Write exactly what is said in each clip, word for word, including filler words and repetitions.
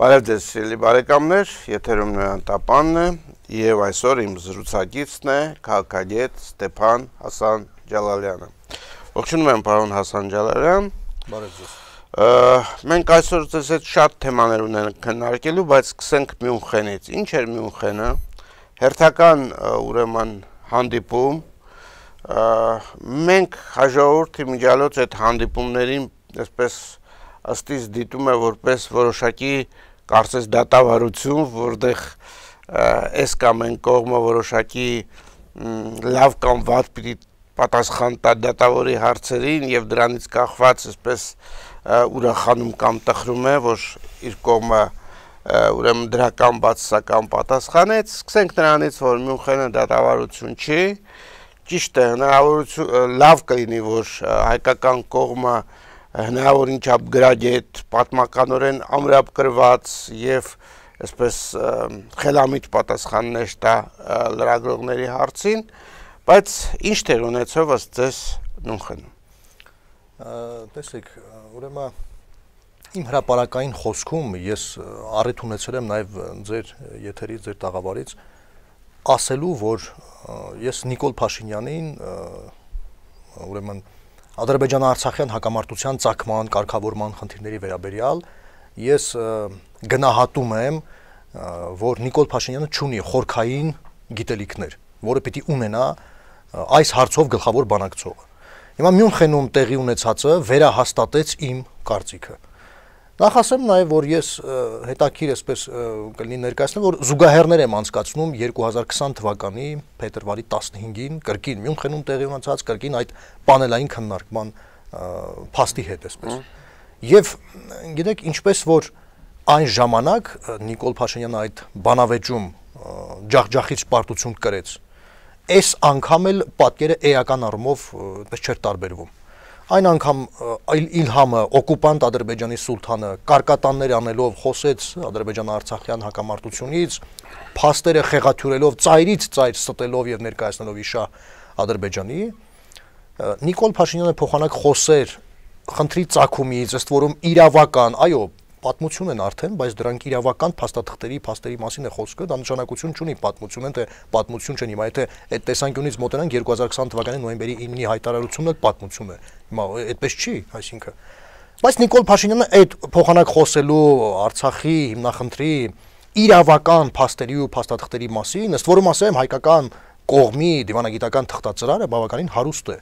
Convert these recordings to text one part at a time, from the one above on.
Բարև ձեզ սիրելի բարեկամներ, եթերում Նոյան Տապանն է եւ այսօր իմ զրուցակիցն է քաղաքագետ Ստեփան Հասան Ջալալյանը։ Ողջունում եմ պարոն Հասան Ջալալյան։ Բարև ձեզ։ Մենք այսօր ձեզ հետ շատ թեմաներ ունենք քննարկելու, բայց սկսենք Մյունխենից։ Ինչ էր Մյունխենը։ Հերթական ուրեմն հանդիպում։ Մենք հաջողորդի միջալոց այդ հանդիպումներին այսպես ըստիս դիտում է որպես որոշակի կարծես դատավարություն, որտեղ այս կամ այն կողմը որոշակի լավ կամ վատ պիտի պատասխան տա դատավորի հարցերին եւ դրանից կախված այսպես ուրախանում կամ տխրում է, որ իր կողմը ուրեմն դրական բացասական պատասխանեց։ Սկսենք նրանից, որ Մյունխենը դատավարություն չի, ճիշտ է, հնարավորություն լավ կլինի, որ հայկական կողմը հնարավոր ինչապ գրագետ, պատմականորեն ամրապկրված եւ այսպես խելամիտ պատասխաններ տա լրագրողների հարցին, բայց ինչ տեղ ունեցավ ըստ ձեզ Մյունխենում։ Տեսեք, ուրեմն իմ հրապարակային խոսքում ես առիթ ունեցել եմ նաեւ ձեր եթերից, ձեր տաղավարից ասելու, որ ես Նիկոլ Փաշինյանին ուրեմն Ադրբեջան-Արցախյան հակամարտության ծագման, կարգավորման խնդիրների վերաբերյալ ես գնահատում եմ, որ Նիկոլ Փաշինյանը չունի խորքային գիտելիքներ, որը պիտի ունենա այս հարցով գլխավոր բանակցողը։ Հիմա Մյունխենում տեղի ունեցածը վերահաստատեց իմ կարծիքը։ Նախ ասեմ նաև, որ ես հետաքրքիր այսպես կլինի ներկայացնեմ, որ զուգահեռներ եմ անցկացնում երկու հազար քսան թվականի փետրվարի տասնհինգին կրկին Մյունխենում տեղի ունեցած կրկին այդ պանելային քննարկման փաստի հետ այսպես։ Եվ գիտեք, ինչպես որ այն ժամանակ Նիկոլ Փաշինյանը այդ բանավեճում ջախջախից պարտություն կրեց, այս անգամ էլ պատկերը էական առումով այդպես չէր տարբերվում։ Այն անգամ Իլհամը, օկուպանտ Ադրբեջանի սուլթանը, կարկատաններ անելով խոսեց Ադրբեջան-Արցախյան հակամարտությունից, փաստերը խեղաթյուրելով, ծայրից ծայր ստելով եւ ներկայացնելով իշահ Ադրբեջանի, Նիկոլ Փաշինյանը փոխանակ խոսեր խնդրի ծագումից, ըստ որում իրավական, այո, պատմություն են արդեն, բայց դրանք իրավական փաստաթղթերի, փաստերի մասին է խոսքը, դա նշանակություն չունի պատմություն են, թե պատմություն չեն, հիմա եթե այդ տեսանկյունից մոտենանք երկու հազար քսան թվականի նոյեմբերի իննի հայտարարությունն էլ պատմություն է։ Հիմա այդպես չի, այսինքն։ Բայց Նիկոլ Փաշինյանը այդ փոխանակ խոսելու Արցախի հիմնախնդրի իրավական փաստերի ու փաստաթղթերի մասին, ըստ որում ասեմ, հայկական կողմի դիվանագիտական թղթածրարը բավականին հարուստ է։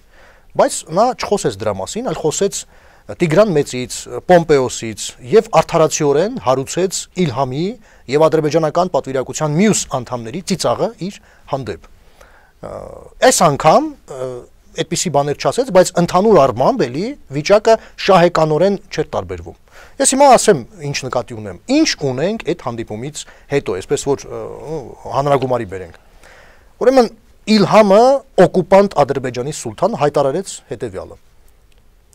Բայց նա չխոսեց դրա մասին, այլ խոսեց Տիգրան Մեծից, Պոմպեոսից եւ արդարացիորեն հարուցեց Իլհամի եւ ադրբեջանական պատվիրակության մյուս անդամների ծիծաղը իր հանդեպ։ Այս անգամ այդպիսի բաներ չասեց, բայց ընդհանուր առմամբ էլի վիճակը շահեկանորեն չէր տարբերվում։ Ես հիմա ասեմ ինչ նկատի ունեմ։ Ինչ ունենք այդ հանդիպումից հետո, այսպես որ հանրագումարի բերենք։ Ուրեմն Իլհամը օկուպանտ Ադրբեջանի սուլթան հայտարարեց հետեւյալը.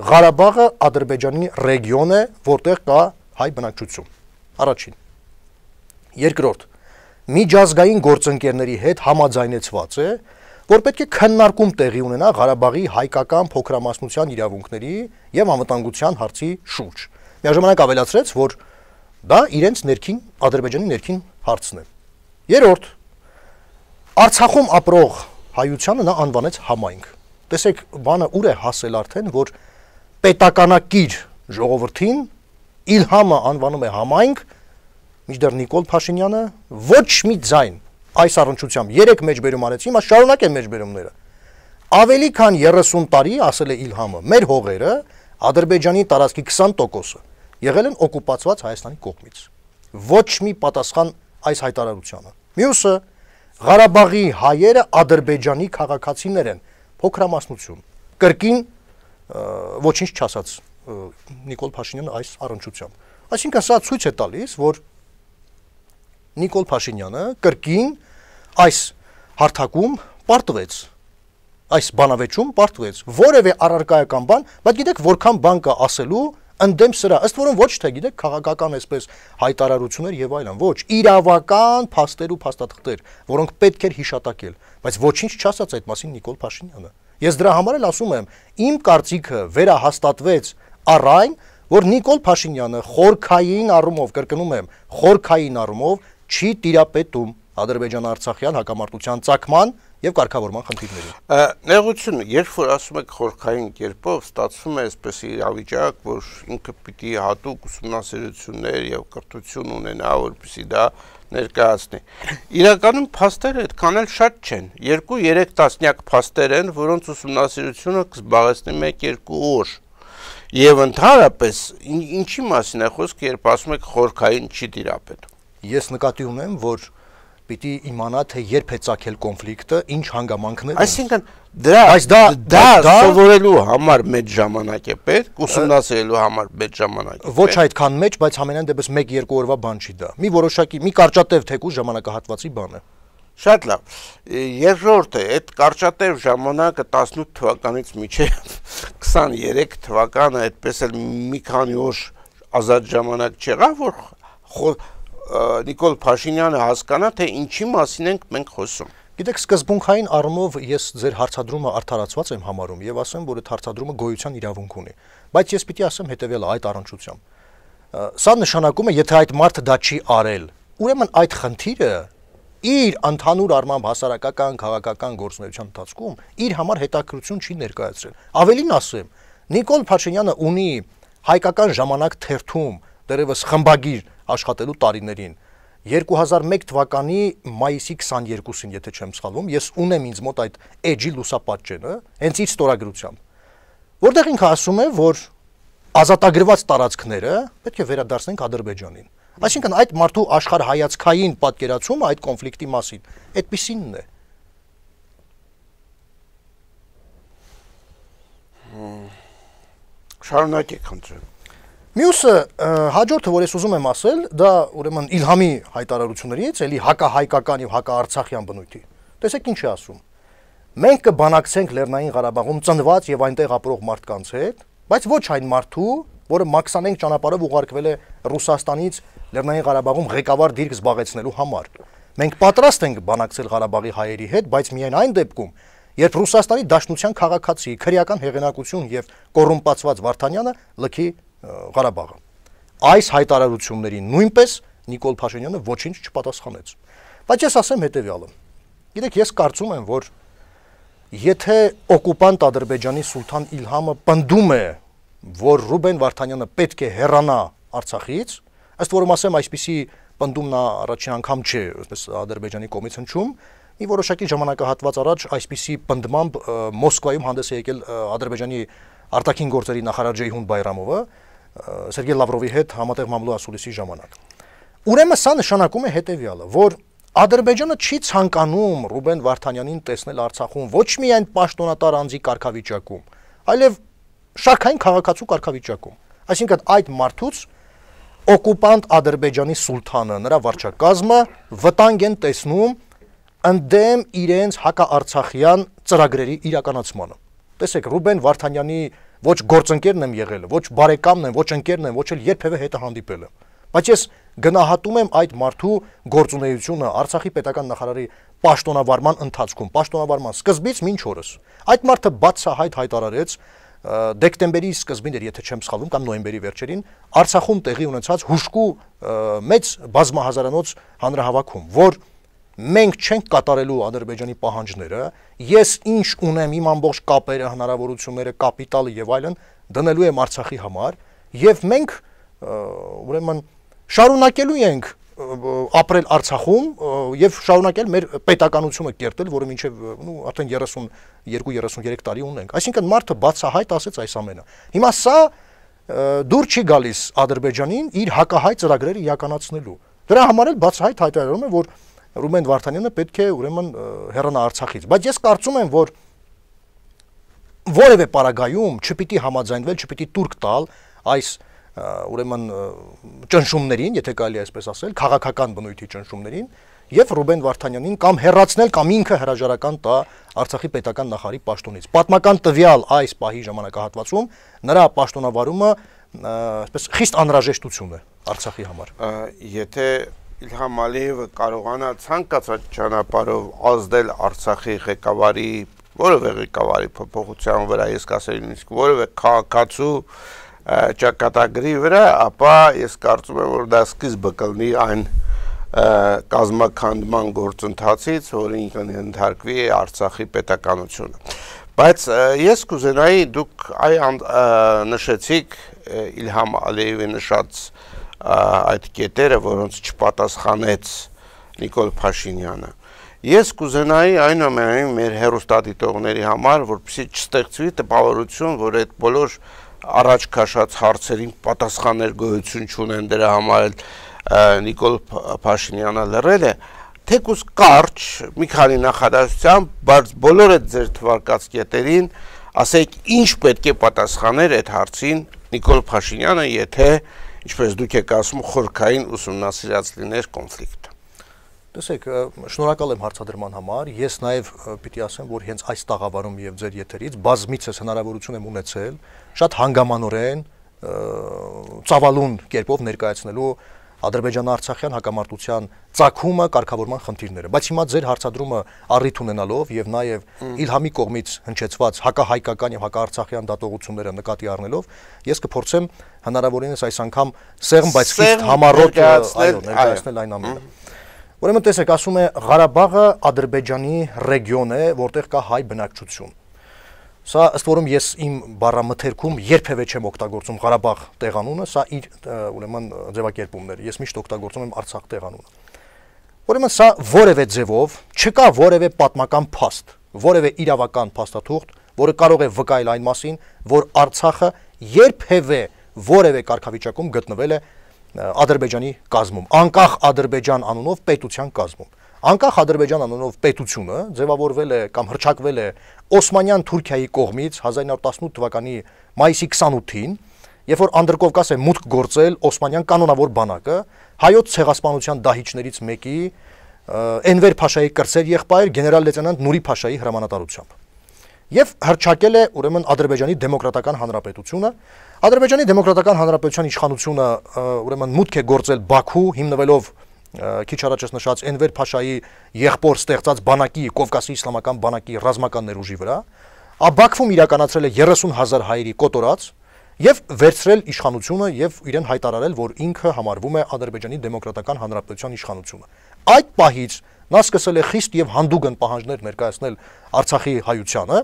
Ղարաբաղը Ադրբեջանի ռեգիոն է, որտեղ կա հայ բնակչություն։ Առաջին։ Երկրորդ, միջազգային գործընկերների հետ համաձայնեցված է, որ պետք է քննարկում տեղի ունենա Ղարաբաղի հայկական փոքրամասնության իրավունքների եւ անվտանգության հարցի շուրջ։ Միաժամանակ ավելացրեց, որ դա իրենց ներքին Ադրբեջանի ներքին հարցն է։ Երրորդ, Արցախում ապրող հայությանը նա անվանեց համայնք։ Տեսեք, բանը ուր է հասել արդեն, որ պետականակիր ժողովրդին Իլհամը անվանում է համայնք, մինչդեռ Նիկոլ Փաշինյանը ոչ մի ձայն այս առնչությամբ երեք մեջբերում արեց, հիմա շարունակ են մեջբերումները։ Ավելի քան երեսուն տարի, ասել է Իլհամը, մեր հողերը Ադրբեջանի տարածքի քսան տոկոսը եղել են օկուպացված Հայաստանի կողմից։ Ոչ մի պատասխան այս հայտարարությանը։ Մյուսը Ղարաբաղի հայերը Ադրբեջանի քաղաքացիներ են, փոքրամասնություն։ Կրկին ոչինչ չասաց Նիկոլ Փաշինյանը այս առնչությամբ։ Այսինքն սա ցույց է տալիս, որ Նիկոլ Փաշինյանը կրկին այս հարթակում պարտվեց, այս բանավեճում պարտվեց, որևէ առարկայական բան, բայց գիտեք որքան բան կա ասելու ընդդեմ սրա, ըստ որում ոչ թե գիտեք քաղաքական այսպես հայտարարություններ եւ այլն, ոչ, իրավական փաստեր ու փաստաթղթեր, որոնք պետք էր հիշատակել, բայց ոչինչ չասաց այդ մասին Նիկոլ Փաշինյանը։ Ես դրա համար էլ ասում եմ, իմ կարծիքը վերահաստատվեց առ այն, որ Նիկոլ Փաշինյանը խորքային առումով, կրկնում եմ, խորքային առումով չի տիրապետում Ադրբեջան-Արցախյան հակամարտության ծագման եւ կարգավորման խնդիրներին։ Նեղություն, երբ որ ասում եք խորքային կերպով, ստացվում է այսպես իրավիճակ, որ ինքը պիտի հատուկ ուսումնասիրություններ եւ կրթություն ունենա, որպեսզի դա ներկայացնի։ Իրականում փաստերը այդքան էլ շատ չեն։ երկու-երեք տասնյակ փաստեր են, որոնց ուսումնասիրությունը կզբաղեցնի մեկ-երկու օր։ Եվ ընդհանրապես ինչի մասին է խոսքը, երբ ասում եք խորքային չի տիրապետում։ Ես նկատի ունեմ, որ պիտի իմանա, թե երբ է ծագել կոնֆլիկտը, ինչ հանգամանքներ են։ Այսինքն դրա Բայց դա դա սովորելու համար մեծ ժամանակ է պետք, ուսումնասիրելու համար մեծ ժամանակ է։ Ոչ այդքան մեծ, բայց համենայն դեպս մեկ-երկու օրվա բան չի դա։ Մի որոշակի, մի կարճատև թեկուզ ժամանակահատվածի բան է։ Շատ լավ։ Երկրորդը, այդ կարճատև ժամանակը տասնութ թվականից մինչև քսաներեք թվականը այդպես էլ մի քանի օր ազատ ժամանակ չեղավ, որ Նիկոլ Փաշինյանը հասկանա, թե ինչի մասին ենք մենք խոսում։ Գիտեք, սկզբունքային առումով ես ձեր հարցադրումը արդարացված եմ համարում եւ ասեմ, որ այդ հարցադրումը գոյության իրավունք ունի։ Բայց ես պիտի ասեմ հետեւյալը այդ առնչությամբ։ Սա նշանակում է, եթե այդ մարդը դա չի արել, ուրեմն այդ խնդիրը իր ընդհանուր առմամբ հասարակական, քաղաքական գործունեության ընթացքում իր համար հետաքրություն չի ներկայացրել։ Ավելին ասեմ, Նիկոլ Փաշինյանը ունի հայկական ժամանակ թերթում դերևս խմբագիր աշխատելու տարիներին երկու հազար մեկ թվականի մայիսի քսաներկուսին, եթե չեմ սխալվում, ես ունեմ ինձ մոտ այդ էջի լուսապատճենը, հենց իր ստորագրությամբ, որտեղ ինքը ասում է, որ ազատագրված տարածքները պետք է վերադարձնենք Ադրբեջանին։ Այսինքն այդ մարդու աշխարհայացքային պատկերացումը այդ կոնֆլիկտի մասին այդպիսինն է։ Շարունակեք, խնդրեմ։ Մյուսը հաջորդը, որ ես ուզում եմ ասել, դա ուրեմն Իլհամի հայտարարություններից, էլի հակահայկական եւ հակաարցախյան բնույթի։ Տեսեք ինչ է ասում։ Մենք կբանակցենք Լեռնային Ղարաբաղում ծնված եւ այնտեղ ապրող մարդկանց հետ, բայց ոչ այն մարդու, որը մաքսանենք ճանապարհով ուղարկվել է Ռուսաստանից Լեռնային Ղարաբաղում ղեկավար դիրք զբաղեցնելու համար։ Մենք պատրաստ ենք բանակցել Ղարաբաղի հայերի հետ, բայց միայն այն դեպքում, երբ Ռուսաստանի Դաշնության քաղաքացի, քրեական հեղինակություն եւ կոռումպացված Վարդանյանը լքի Ղարաբաղը։ Այս հայտարարություններին նույնպես Նիկոլ Փաշինյանը ոչինչ չպատասխանեց։ Բայց ես ասեմ հետեւյալը։ Գիտեք, ես կարծում եմ, որ եթե օկուպանտ Ադրբեջանի սուլթան Իլհամը պնդում է, որ Ռուբեն Վարդանյանը պետք է հեռանա Արցախից, ըստ որում ասեմ, այսպիսի պնդում նա առաջին անգամ չէ, այսպես Ադրբեջանի կողմից հնչում, մի որոշակի ժամանակահատված առաջ այսպիսի պնդմամբ Մոսկվայում հանդես է եկել Ադրբեջանի արտաքին գործերի նախարար Ջեյհուն Բայրամովը Սերգեյ Լավրովի հետ համատեղ մամլո ասուլիսի ժամանակ։ Ուրեմն սա նշանակում է հետեւյալը, որ Ադրբեջանը չի ցանկանում Ռուբեն Վարդանյանին տեսնել Արցախում ոչ միայն պաշտոնատար անձի կարգավիճակում, այլև շարքային քաղաքացու կարգավիճակում։ Այսինքն այդ մարդուց օկուպանտ Ադրբեջանի սուլթանը, նրա վարչակազմը վտանգ են տեսնում ընդդեմ իրենց հակաարցախյան ծրագրերի իրականացմանը։ Տեսեք, Ռուբեն Վարդանյանի ոչ գործընկերն եմ եղել, ոչ բարեկամն եմ, ոչ ընկերն եմ, ոչ էլ երբևէ հետը հանդիպել եմ։ Բայց ես գնահատում եմ այդ մարդու գործունեությունը Արցախի պետական նախարարի պաշտոնավարման ընթացքում, պաշտոնավարման սկզբից մինչ օրս։ Այդ մարդը բացահայտ հայտարարեց դեկտեմբերի սկզբին էր, եթե չեմ սխալվում, կամ նոյեմբերի վերջերին Արցախում տեղի ունեցած հուժկու մեծ բազմահազարանոց հանրահավաքում, որ մենք չենք կատարելու Ադրբեջանի պահանջները, ես ինչ ունեմ, իմ ամբողջ կապերը, հնարավորությունները, կապիտալը եւ այլն դնելու եմ Արցախի համար, եւ մենք ուրեմն շարունակելու ենք ապրել Արցախում եւ շարունակել մեր պետականությունը կերտել, որը մինչեւ նու արդեն երեսունյոթ երեսունյոթ տարի ունենք։ Այսինքն մարդը բացահայտ ասեց այս ամենը։ Հիմա սա դուր չի գալիս Ադրբեջանին իր հակահայ ծրագրերը իրականացնելու։ Դրա համար էլ բացահայտ հայտարարում է, որ Ռուբեն Վարդանյանը պետք է ուրեմն հեռանա Արցախից, բայց ես կարծում եմ, որ որևէ պարագայում չպիտի համաձայնվել, չպիտի տուրք տալ այս ուրեմն ճնշումներին, եթե կարելի է այսպես ասել, քաղաքական բնույթի ճնշումներին, եւ Ռուբեն Վարդանյանին կամ հեռացնել կամ ինքը հրաժարական տա Արցախի պետական նախարարի պաշտոնից։ Պատմական տվյալ այս պահի ժամանակահատվածում նրա պաշտոնավարումը այսպես խիստ անհրաժեշտություն է Արցախի համար։ Եթե Իլհամ Ալիևը կարողանա ցանկացած ճանապարհով ազդել Արցախի ղեկավարի, որևէ ղեկավարի փոփոխության վրա, ես կասեի նույնիսկ որևէ քաղաքացու ճակատագրի վրա, ապա ես կարծում եմ, որ դա սկիզբը կլինի այն կազմաքանդման գործընթացից, որին կընդհարկվի Արցախի պետականությունը։ Բայց ես կուզենայի, դուք այ նշեցիք Իլհամ Ալիևի նշած այդ կետերը, որոնց չպատասխանեց Նիկոլ Փաշինյանը։ Ես կուզենայի այնուամենայնիվ մեր հեռուստադիտողների համար, որպեսզի չստեղծվի տպավորություն, որ այդ բոլոր առաջ քաշած հարցերին պատասխաններ գոյություն չունեն, դրա համար էլ Նիկոլ Փաշինյանը լռել է, թեկուզ կարճ մի քանի նախադասությամբ, բայց բոլոր այդ ձեր թվարկած կետերին ասեք ինչ պետք է պատասխաներ այդ հարցին Նիկոլ Փաշինյանը, եթե, ինչպես դուք եք ասում, խորքային ուսումնասիրած լիներ կոնֆլիկտը։ Տեսեք, շնորհակալ եմ հարցադրման համար, ես նաև պիտի ասեմ, որ հենց այս տաղավարում եւ ձեր եթերից բազմիցս հնարավորություն եմ ունեցել շատ հանգամանորեն ծավալուն կերպով ներկայացնելու Ադրբեջան-Արցախյան հակամարտության ծագումը, կարգավորման խնդիրները, բայց հիմա ձեր հարցադրումը առիթ ունենալով եւ նաեւ Իլհամի կողմից հնչեցված հակահայկական եւ հակաարցախյան դատողությունները նկատի առնելով, ես կփորձեմ հնարավորինս այս անգամ սեղմ, բայց խիստ համառոտ ներկայացնել այն ամենը։ Ուրեմն տեսեք, ասում է Ղարաբաղը Ադրբեջանի ռեգիոն է, որտեղ կա հայ բնակչություն։ Սա ըստ որում ես իմ բառամթերքում երբևէ չեմ օգտագործում Ղարաբաղ տեղանունը, սա իր ուրեմն ձևակերպումն է։ Ես միշտ օգտագործում եմ Արցախ տեղանունը։ Ուրեմն սա որևէ ձևով չկա որևէ պատմական փաստ, որևէ իրավական փաստաթուղթ, որը կարող է վկայել այն մասին, որ Արցախը երբևէ որևէ կարգավիճակում գտնվել է Ադրբեջանի կազմում, անկախ Ադրբեջան անունով պետության կազմում։ Անկախ Ադրբեջան անունով պետությունը ձևավորվել է կամ հռչակվել է Օսմանյան Թուրքիայի կողմից հազար ինը հարյուր տասնութ թվականի մայիսի քսանութին, երբ որ Անդրկովկաս է մուտք գործել Օսմանյան կանոնավոր բանակը, հայոց ցեղասպանության դահիճներից մեկի Էնվեր Փաշայի կրտսեր եղբայր գեներալ լեյտենանտ Նուրի Փաշայի հրամանատարությամբ։ Եվ հռչակել է ուրեմն Ադրբեջանի դեմոկրատական հանրապետությունը։ Ադրբեջանի դեմոկրատական հանրապետության իշխանությունը ուրեմն մուտք է գործել Բաքու, հիմնվելով քիչ առաջ նշած Էնվեր Փաշայի եղբոր ստեղծած բանակի, Կովկասի իսլամական բանակի ռազմական ներուժի վրա, Բաքվում իրականացրել է երեսուն հազար հայերի կոտորած եւ վերցրել իշխանությունը եւ իրեն հայտարարել, որ ինքը համարվում է Ադրբեջանի դեմոկրատական հանրապետության իշխանությունը։ Այդ պահից նա սկսել է խիստ եւ հանդուգն պահանջներ ներկայացնել Արցախի հայությանը,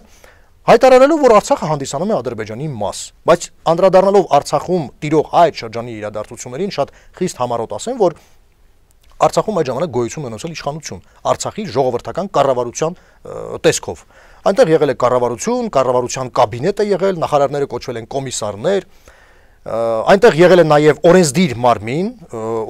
հայտարարելով, որ Արցախը հանդիսանում է Ադրբեջանի մաս, բայց անդրադառնալով Արցախում տիրող այդ շրջանի իրադարձություններին շատ խիստ համառոտ ասեմ, որ Արցախում այդ ժամանակ գոյություն ունեցել իշխանություն, Արցախի ժողովրդական կառավարության տեսքով։ Այնտեղ եղել է կառավարություն, կառավարության կաբինետ է եղել, նախարարները կոչվել են կոմիսարներ, այնտեղ եղել է նաև օրենսդիր մարմին,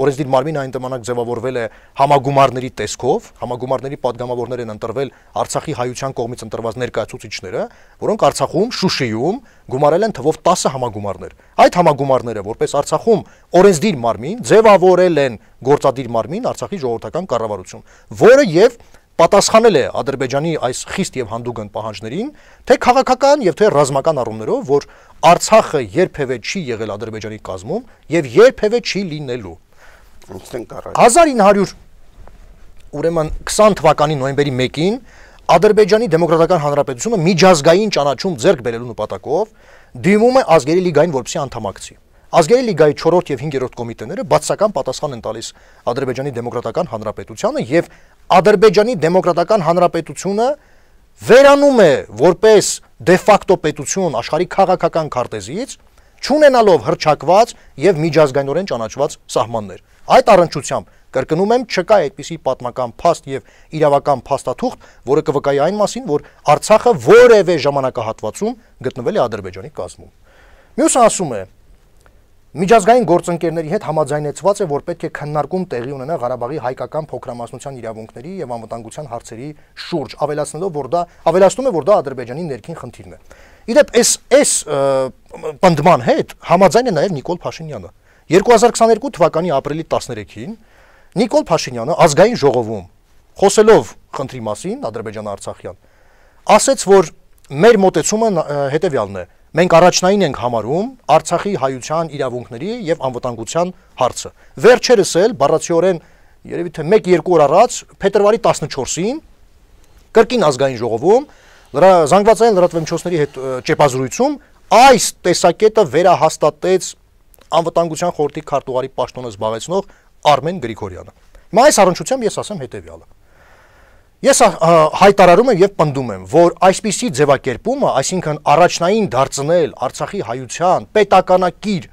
օրենսդիր մարմինը այն ժամանակ ձևավորվել է համագումարների տեսքով, համագումարների падգամավորներ են ընտրվել Արցախի հայության կողմից ընտրված ներկայացուցիչները, որոնք Արցախում, Շուշիում գումարել են թվով տասը համագումարներ։ Այդ համագումարները, որպես Արցախում օրենսդիր մարմին, ձևավորել են գործադիր մարմին Արցախի ժողովրդական կառավարություն, որը եւ պատասխանել է Ադրբեջանի այս խիստ եւ հանդուգն պահանջներին, թե քաղաքական եւ թե ռազմական առումներով, որ Արցախը երբևէ չի եղել Ադրբեջանի կազմում եւ երբևէ չի լինելու։ հազար ինը հարյուր ուրեմն քսան թվականի նոյեմբերի մեկին Ադրբեջանի դեմոկրատական հանրապետությունը միջազգային ճանաչում ձեռք բերելու նպատակով դիմում է ազգերի լիգային, որպեսզի անդամակցի։ Ազգերի լիգայի չորրորդ եւ հինգերորդ կոմիտեները բացասական պատասխան են տալիս Ադրբեջանի դեմոկրատական հանրապետությանը եւ Ադրբեջանի դեմոկրատական հանրապետությունը վերանում է որպես դե ֆակտո պետություն աշխարհի քաղաքական քարտեզից, չունենալով հռչակված եւ միջազգայինորեն ճանաչված սահմաններ։ Այդ առնչությամբ կրկնում եմ, չկա այդպիսի պատմական փաստ եւ իրավական փաստաթուղթ, որը կվկայի այն մասին, որ Արցախը որևէ ժամանակահատվածում գտնվել է Ադրբեջանի կազմում։ Մյուսը ասում է, միջազգային գործընկերների հետ համաձայնեցված է, որ պետք է քննարկում տեղի ունենա Ղարաբաղի հայկական փոքրամասնության իրավունքների եւ անվտանգության հարցերի շուրջ, ավելացնելով, որ դա ավելացնում է, որ դա Ադրբեջանի ներքին խնդիրն է։ Իդեպ այս այս պնդման հետ համաձայն է նաեւ Նիկոլ Փաշինյանը։ երկու հազար քսաներկու թվականի ապրիլի տասներեքին Նիկոլ Փաշինյանը ազգային ժողովում խոսելով խնդրի մասին Ադրբեջան-Արցախյան ասաց, որ մեր մոտեցումը հետեւյալն է. մենք առաջնային ենք համարում Արցախի հայության իրավունքների եւ անվտանգության հարցը։ Վերջերս էլ բառացիորեն երևի թե մեկ-երկու օր առաջ փետրվարի տասնչորսին կրկին ազգային ժողովում զանգվածային լրատվամիջոցների հետ ճեպազրույցում այս տեսակետը վերահաստատեց անվտանգության խորհրդի քարտուղարի պաշտոնը զբաղեցնող Արմեն Գրիգորյանը։ Հիմա այս առնչությամբ ես ասեմ հետևյալը։ Ես հայտարարում եմ եւ պնդում եմ, որ այսպիսի ձևակերպումը, այսինքն առաջնային դարձնել Արցախի հայության պետականակիր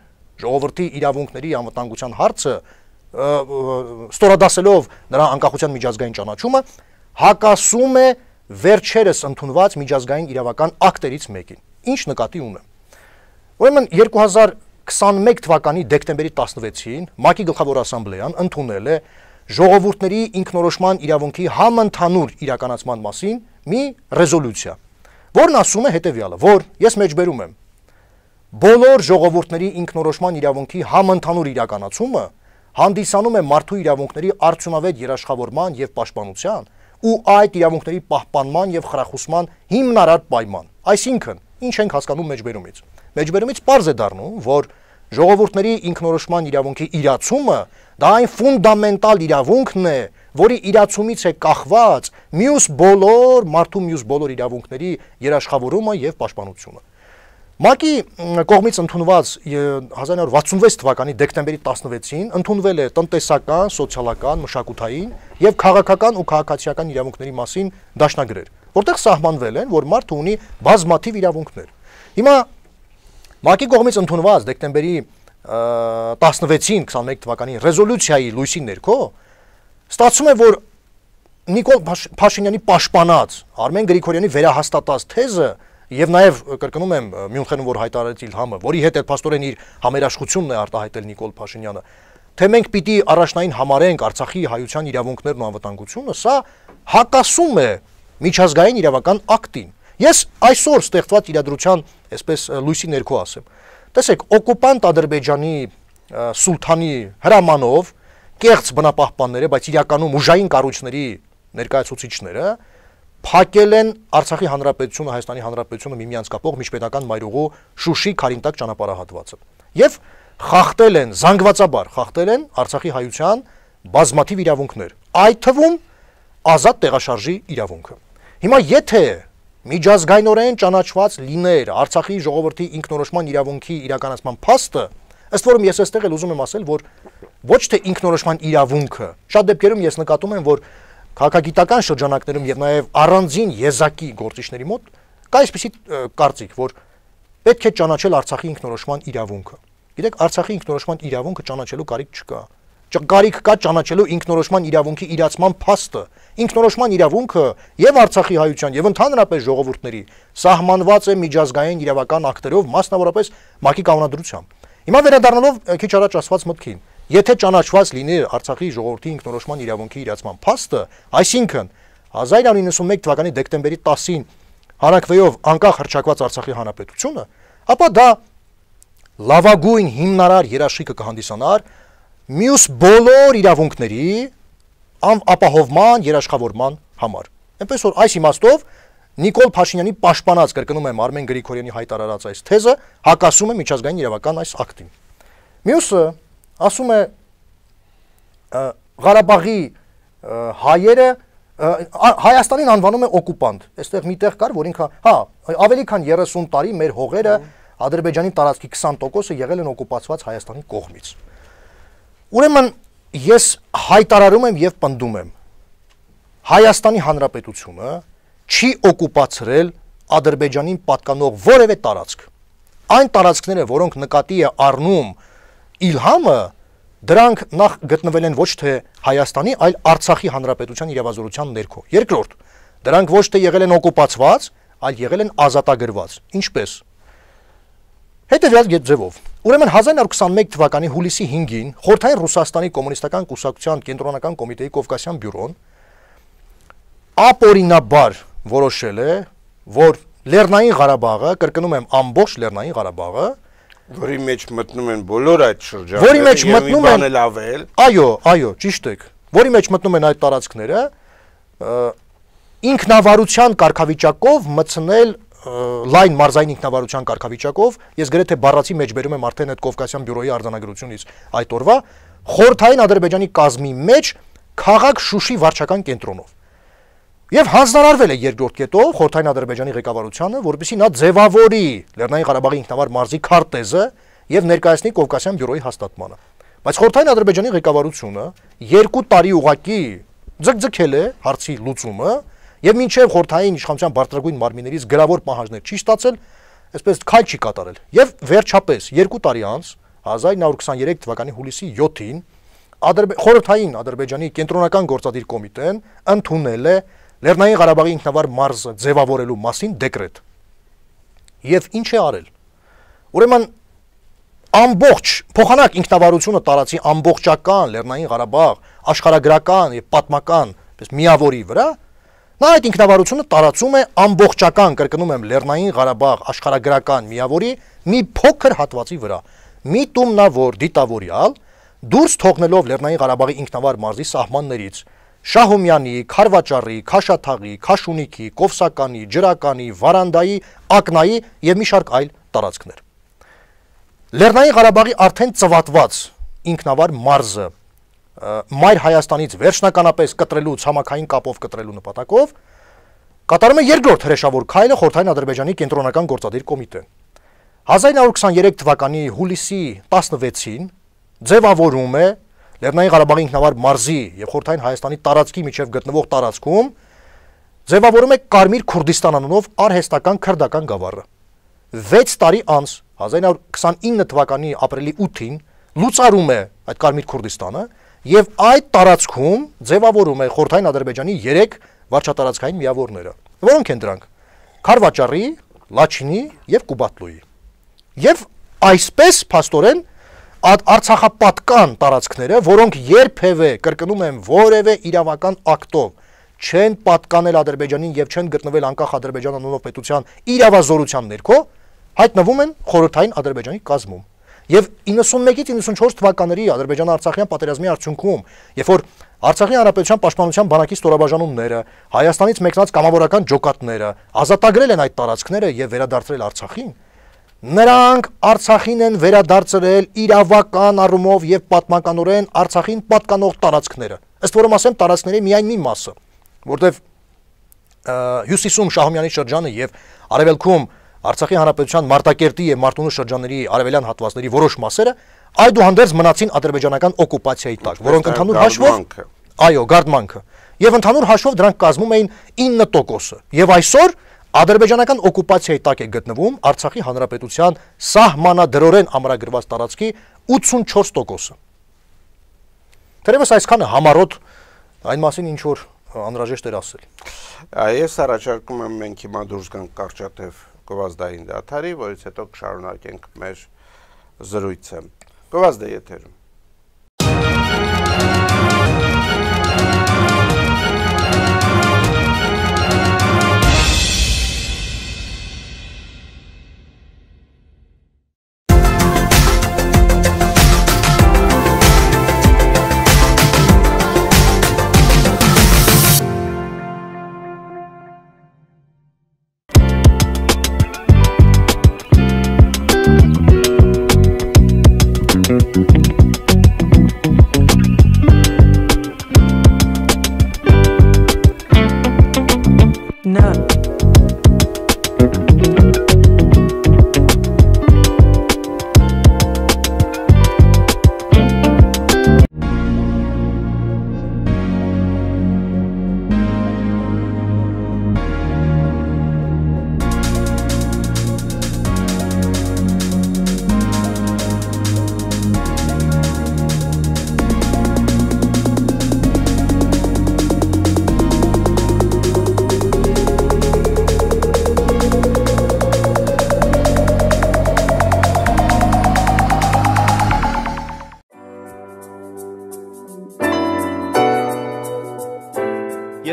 ժողովրդի իրավունքների անվտանգության հարցը, ստորադասելով նրա անկախության միջազգային ճանաչումը, հակասում է վերջերս ընդունված միջազգային իրավական ակտերից մեկին։ Ինչ նկատի ունեմ։ Ուրեմն երկու հազար քսաներեք թվականի դեկտեմբերի տասնվեցին ՄԱԿ-ի գլխավոր ասամբլեան ընդունել է ժողովուրդների ինքնորոշման իրավունքի համընդհանուր իրականացման մասին մի ռեզոլյուցիա, որն ասում է հետևյալը, որ ես մեջբերում եմ բոլոր ժողովուրդների ինքնորոշման իրավունքի համընդհանուր իրականացումը հանդիսանում է մարդու իրավունքների արդյունավետ երաշխավորման եւ պաշտպանության ու այդ իրավունքների պահպանման եւ խրախուսման հիմնարար պայման։ Այսինքն, ինչ ենք հասկանում մեջբերումից։ Մեջբերումից պարզ է դառնում, որ ժողովուրդների ինքնորոշման իրավունքի իրացումը դա այն ֆունդամենտալ իրավունքն է, որի իրացումից է կախված մյուս բոլոր մարդու մյուս բոլոր իրավունքների երաշխավորումը եւ պաշտպանությունը։ ՄԱԿ-ի կողմից ընդունված հազար նոր վաթսունվեց թվականի դեկտեմբերի տասնվեցին ընդունվել է տնտեսական, սոցիալական, մշակութային եւ քաղաքական ու քաղաքացիական իրավունքների մասին դաշնագրեր, որտեղ սահմանվել են, որ մարդը ունի բազմաթիվ իրավունքներ։ Հիմա ՄԱԿ-ի կողմից ընդունված դեկտեմբերի տասնվեցին քսաներեք թվականի ռեզոլյուցիայի լույսի ներքո ստացվում է, որ Նիկոլ Փաշինյանի պաշտպանած Արմեն Գրիգորյանի վերահաստատած թեզը եւ նաեւ կրկնում եմ Մյունխենում որ հայտարարեց Իլհամը, որի հետ էլ փաստորեն իր համերաշխությունն է արտահայտել Նիկոլ Փաշինյանը, թե մենք պիտի առաջնային համարենք Արցախի հայության իրավունքներն ու անվտանգությունը, սա հակասում է միջազգային իրավական ակտին։ Ես այսօր ստեղծված իրադրության, այսպես լույսի ներքո ասեմ, տեսեք, օկուպանտ Ադրբեջանի սուլթանի հրամանով կեղծ բնապահպանները, բայց իրականում ուժային կառույցների ներկայացուցիչները փակել են Արցախի հանրապետությունը, Հայաստանի հանրապետությունը միմյանց կապող միջպետական մայրուղու Շուշի Քարինտակ ճանապարհահատվածը եւ խախտել են, զանգվածաբար խախտել են Արցախի հայության բազմաթիվ իրավունքներ, այդ թվում ազատ տեղաշարժի իրավունքը։ Հիմա եթե միջազգայնորեն ճանաչված լիներ Արցախի ժողովրդի ինքնորոշման իրավունքի իրականացման փաստը, ըստ որում ես այստեղ էլ ուզում եմ ասել, որ ոչ թե ինքնորոշման իրավունքը, շատ դեպքերում ես նկատում եմ, որ քաղաքագիտական շրջանակներում եւ նաեւ առանձին եզակի գործիչների մոտ կա այսպիսի կարծիք, որ պետք է ճանաչել Արցախի ինքնորոշման իրավունքը։ Գիտեք, Արցախի ինքնորոշման իրավունքը ճանաչելու կարիք չկա։ Կարիք կա ճանաչելու ինքնորոշման իրավունքի իրացման փաստը։ Ինքնորոշման իրավունքը եւ Արցախի հայության եւ ընդհանրապես ժողովուրդների սահմանված է միջազգային իրավական ակտերով, մասնավորապես ՄԱԿ-ի կանոնադրությամբ։ Հիմա վերադառնալով քիչ առաջ ասված մտքին, եթե ճանաչված լինի Արցախի ժողովրդի ինքնորոշման իրավունքի իրացման փաստը, այսինքն հազար իննսուն ութ թվականի դեկտեմբերի տասին հանրաքվեով անկախ հռչակված Արցախի հանրապետությունը, ապա դա լավագույն հիմնարար երաշխիքը կհանդիսանար մյուս բոլոր իրավունքների ապահովման, երաշխավորման համար։ Այնպես որ այս իմաստով Նիկոլ Փաշինյանի պաշտպանած, կրկնում եմ, Արմեն Գրիգորյանի հայտարարած այս թեզը հակասում է միջազգային իրավական այս ակտին։ Մյուսը ասում է Ղարաբաղի հայերը Հայաստանին անվանում է օկուպանտ։ Այստեղ մի տեղ կար, որ ինքը, հա, ավելի քան երեսուն տարի մեր հողերը Ադրբեջանի տարածքի քսան տոկոսը եղել են օկուպացված Հայաստանի կողմից։ Ուրեմն ես հայտարարում եմ եւ պնդում եմ, Հայաստանի Հանրապետությունը չի օկուպացրել Ադրբեջանին պատկանող որևէ տարածք։ Այն տարածքները, որոնք նկատի է առնում Իլհամը, դրանք նախ գտնվել են ոչ թե Հայաստանի, այլ Արցախի Հանրապետության իրավազորության ներքո։ Երկրորդ, դրանք ոչ թե եղել են օկուպացված, այլ եղել են ազատագրված։ Ինչպես։ Հետևյալ ձևով։ Ուրեմն հազար իննսուն քսաներեք թվականի հուլիսի հինգին Խորհրդային Ռուսաստանի կոմունիստական կուսակցության կենտրոնական կոմիտեի Կովկասյան բյուրոն ապօրինաբար որոշել է, որ Լեռնային Ղարաբաղը, կրկնում եմ, ամբողջ Լեռնային Ղարաբաղը, որի մեջ մտնում են բոլոր այդ շրջանները, որի մեջ մտնում են լավել։ Այո, այո, ճիշտ եք։ Որի մեջ մտնում են այդ տարածքները, ինքնավարության կարգավիճակով մտցնել լայն մարզային ինքնավարության կարգավիճակով, ես գրեթե բառացի մեջ բերում եմ արդեն այդ Կովկասյան բյուրոյի արձանագրությունից այդ օրվա, խորհրդային Ադրբեջանի կազմի մեջ քաղաք Շուշի վարչական կենտրոնով։ Եվ հանձնարարվել է երկրորդ կետով Խորհրդային Ադրբեջանի ղեկավարությանը, որպեսզի նա ձևավորի Լեռնային Ղարաբաղի ինքնավար մարզի քարտեզը եւ ներկայացնի Կովկասյան բյուրոյի հաստատմանը։ Բայց Խորհրդային Ադրբեջանի ղեկավարությունը երկու տարի ուղակի ձգձգել է հարցի լուծումը եւ մինչեւ Խորհրդային իշխանության բարձրագույն մարմիններից գրավոր պահանջներ չի ստացել, այսպես քայլ չի կատարել։ Եվ վերջապես երկու տարի անց հազար նույն հարյուր քսաներեք թվականի հուլիսի յոթին Խորհրդային Ադրբեջանի կենտրոնական գործադիր կոմիտեն ընդունել է Լեռնային Ղարաբաղի ինքնավար մարզը ձևավորելու մասին դեկրետ։ Եվ ինչ է արել։ Ուրեմն ամբողջ փոխանակ ինքնավարությունը տարածի ամբողջական Լեռնային Ղարաբաղ աշխարհագրական եւ պատմական միավորի վրա, նա այդ ինքնավարությունը տարածում է ամբողջական, կրկնում եմ, Լեռնային Ղարաբաղ աշխարհագրական միավորի մի փոքր հատվածի վրա։ Միտումնավոր դիտավորյալ դուրս թողնելով Լեռնային Ղարաբաղի ինքնավար մարզի սահմաններից Շահումյանի, Խարվաճարի, Քաշաթաղի, Քաշունիքի, Կովսականի, Ջրականի, Վարանդայի, Ակնայի եւ մի շարք այլ տարածքներ։ Լեռնային Ղարաբաղի արդեն ծվատված ինքնավար մարզը Մայր Հայաստանից վերջնականապես կտրելու ցամաքային կապով կտրելու նպատակով կատարում է երկրորդ հրեշավոր քայլը Խորհրդային Ադրբեջանի կենտրոնական գործադիր կոմիտեն։ հազար նույն հարյուր քսաներեք թվականի հուլիսի տասնվեցին ձևավորում է Լեռնային Ղարաբաղի ինքնավար մարզի եւ Խորհրդային Հայաստանի տարածքի միջև գտնվող տարածքում ձևավորում է Կարմիր Քուրդիստան անունով արհեստական քրդական գավառը։ վեց տարի անց հազար նույն հարյուր քսանինը թվականի ապրիլի ութին լուծարում է այդ Կարմիր Քուրդիստանը եւ այդ տարածքում ձևավորում է Խորհրդային Ադրբեջանի երեք վարչատարածքային միավորները, որոնք են դրանք Խարվաճարի, Լաչինի եւ Կուբատլուի։ Եվ այսպես փաստորեն Արցախապատկան տարածքները, որոնք երբևէ, կրկնում եմ, որևէ իրավական ակտով չեն պատկանել Ադրբեջանին եւ չեն գտնվել անկախ Ադրբեջան անունով պետության իրավազորության ներքո, հայտնվում են Խորհրդային Ադրբեջանի կազմում։ Եվ իննսունմեկից իննսունչորս թվականների Ադրբեջան-Արցախյան պատերազմի արդյունքում, երբ որ Արցախի Հանրապետության պաշտպանության բանակի ստորաբաժանումները, Հայաստանից մեկնած կամավորական ջոկատները ազատագրել են այդ տարածքները եւ վերադարձրել Արցախին, նրանք Արցախին են վերադարձրել իրավական առումով եւ պատմականորեն Արցախին պատկանող տարածքները։ Ըստ որում ասեմ, տարածքների միայն մի մասը, որտեղ հյուսիսում Շահումյանի շրջանը եւ արևելքում Արցախի Հանրապետության Մարտակերտի եւ Մարտունու շրջանների արևելյան հատվածների որոշ մասերը այդուհանդերձ մնացին ադրբեջանական օկուպացիայի տակ, որոնք ընդհանուր հաշվով, այո, գարդմանքը, եւ ընդհանուր հաշվով դրանք կազմում էին ինը տոկոսը։ Եվ այսօր ադրբեջանական օկուպացիայի տակ է գտնվում Արցախի Հանրապետության սահմանադրորեն ամրագրված տարածքի ութսունչորս տոկոսը։ Թերևս այսքանը համառոտ այն մասին ինչ որ անհրաժեշտ էր ասել։ Ես առաջարկում եմ մենք հիմա դուրս գանք կարճատև գովազդային դադարի, որից հետո կշարունակենք մեր զրույցը։ Գովազդը եթերում։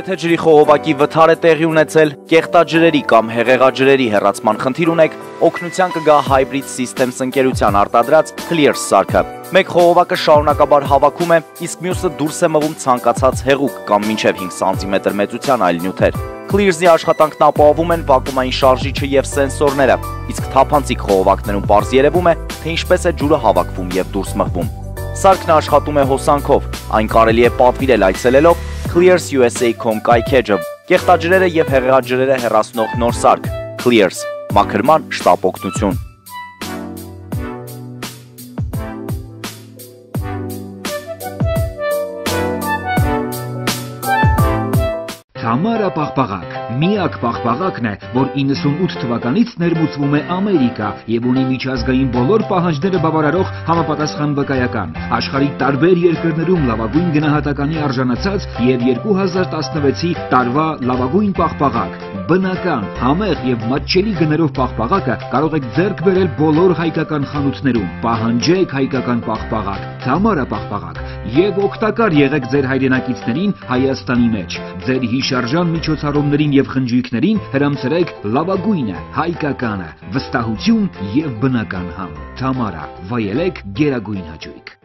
Եթե ջրի խողովակի վթար է տեղի ունեցել, կեղտաջրերի կամ հեղեղաջրերի հեռացման խնդիր ունեք, օգնության կգա Hybrid Systems ընկերության արտադրած Clears սարքը։ Մեկ խողովակը շարունակաբար հավաքում է, իսկ մյուսը դուրս է մղում ցանկացած հեղուկ կամ մինչև հինգ սանտիմետր մեծության այլ նյութեր։ Clears-ի աշխատանքն ապահովում են վակուումային շարժիչը եւ սենսորները, իսկ թափանցիկ խողովակներում պարզ երևում է, թե ինչպես է ջուրը հավաքվում եւ դուրս մղվում։ Սարքն աշխատում է հոսանքով, այն կարելի է պատվիրել այցելելով clears u s a dot com կայքեջը Կեղտաջրերը եւ հեղեղաջրերը հեռացնող նոր սարք Clears, մաքրման շտապ օգնություն։ Թամարա պաղպաղակ, միակ պաղպաղակն է, որ իննսունութ թվականից ներմուծվում է Ամերիկա եւ ունի միջազգային բոլոր պահանջները բավարարող համապատասխան վկայական։ Աշխարհի տարբեր երկրներում լավագույն գնահատականի արժանացած եւ երկու հազար տասնվեցի տարվա լավագույն պաղպաղակ։ Բնական, համեղ եւ մատչելի գներով պաղպաղակը կարող եք ձեռք բերել բոլոր հայկական խանութներում։ Պահանջեք հայկական պաղպաղակ, Թամարա պաղպաղակ եւ օգտակար եղեք ձեր հայրենակիցներին Հայաստանի մեջ։ Ձեր հիշարժան միջոցառումներին եւ խնջույքներին հրամցրեք լավագույնը, հայկականը, վստահություն եւ բնական համ։ Թամարա, վայելեք գերագույն հաճույք։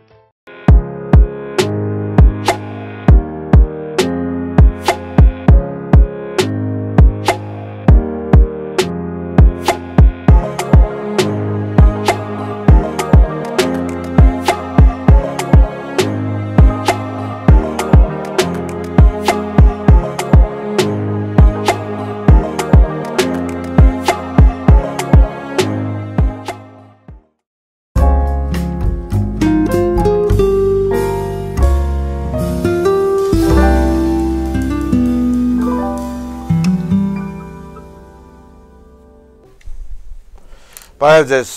Բայց ես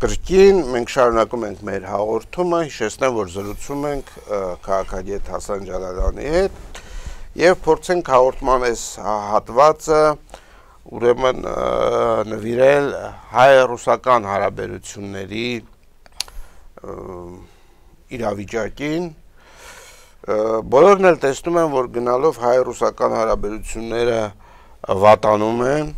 կրկին մենք շարունակում ենք մեր հաղորդումը, հիշեցնեմ, որ զրուցում ենք քաղաքագետ Հասան Ջալալյանի հետ եւ փորձենք հաղորդման այս հատվածը ուրեմն նվիրել հայ-ռուսական հարաբերությունների իրավիճակին։ Բոլորն էլ տեսնում են, որ գնալով հայ-ռուսական հարաբերությունները վատանում են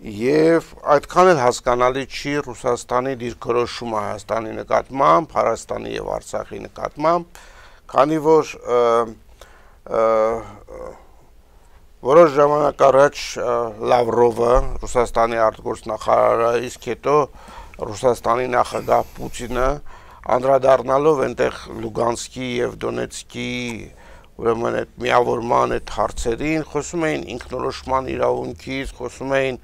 Եվ այդքան էլ հասկանալի չի Ռուսաստանի դիրքորոշումը Հայաստանի նկատմամբ, Հայաստանի եւ Արցախի նկատմամբ, քանի որ որոշ ժամանակ առաջ Լավրովը, Ռուսաստանի արտգործնախարարը, իսկ հետո Ռուսաստանի նախագահ Պուտինը անդրադառնալով այնտեղ Լուգանսկի եւ Դոնեցկի ուրեմն այդ միավորման այդ հարցերին, խոսում էին ինքնորոշման իրավունքից, խոսում էին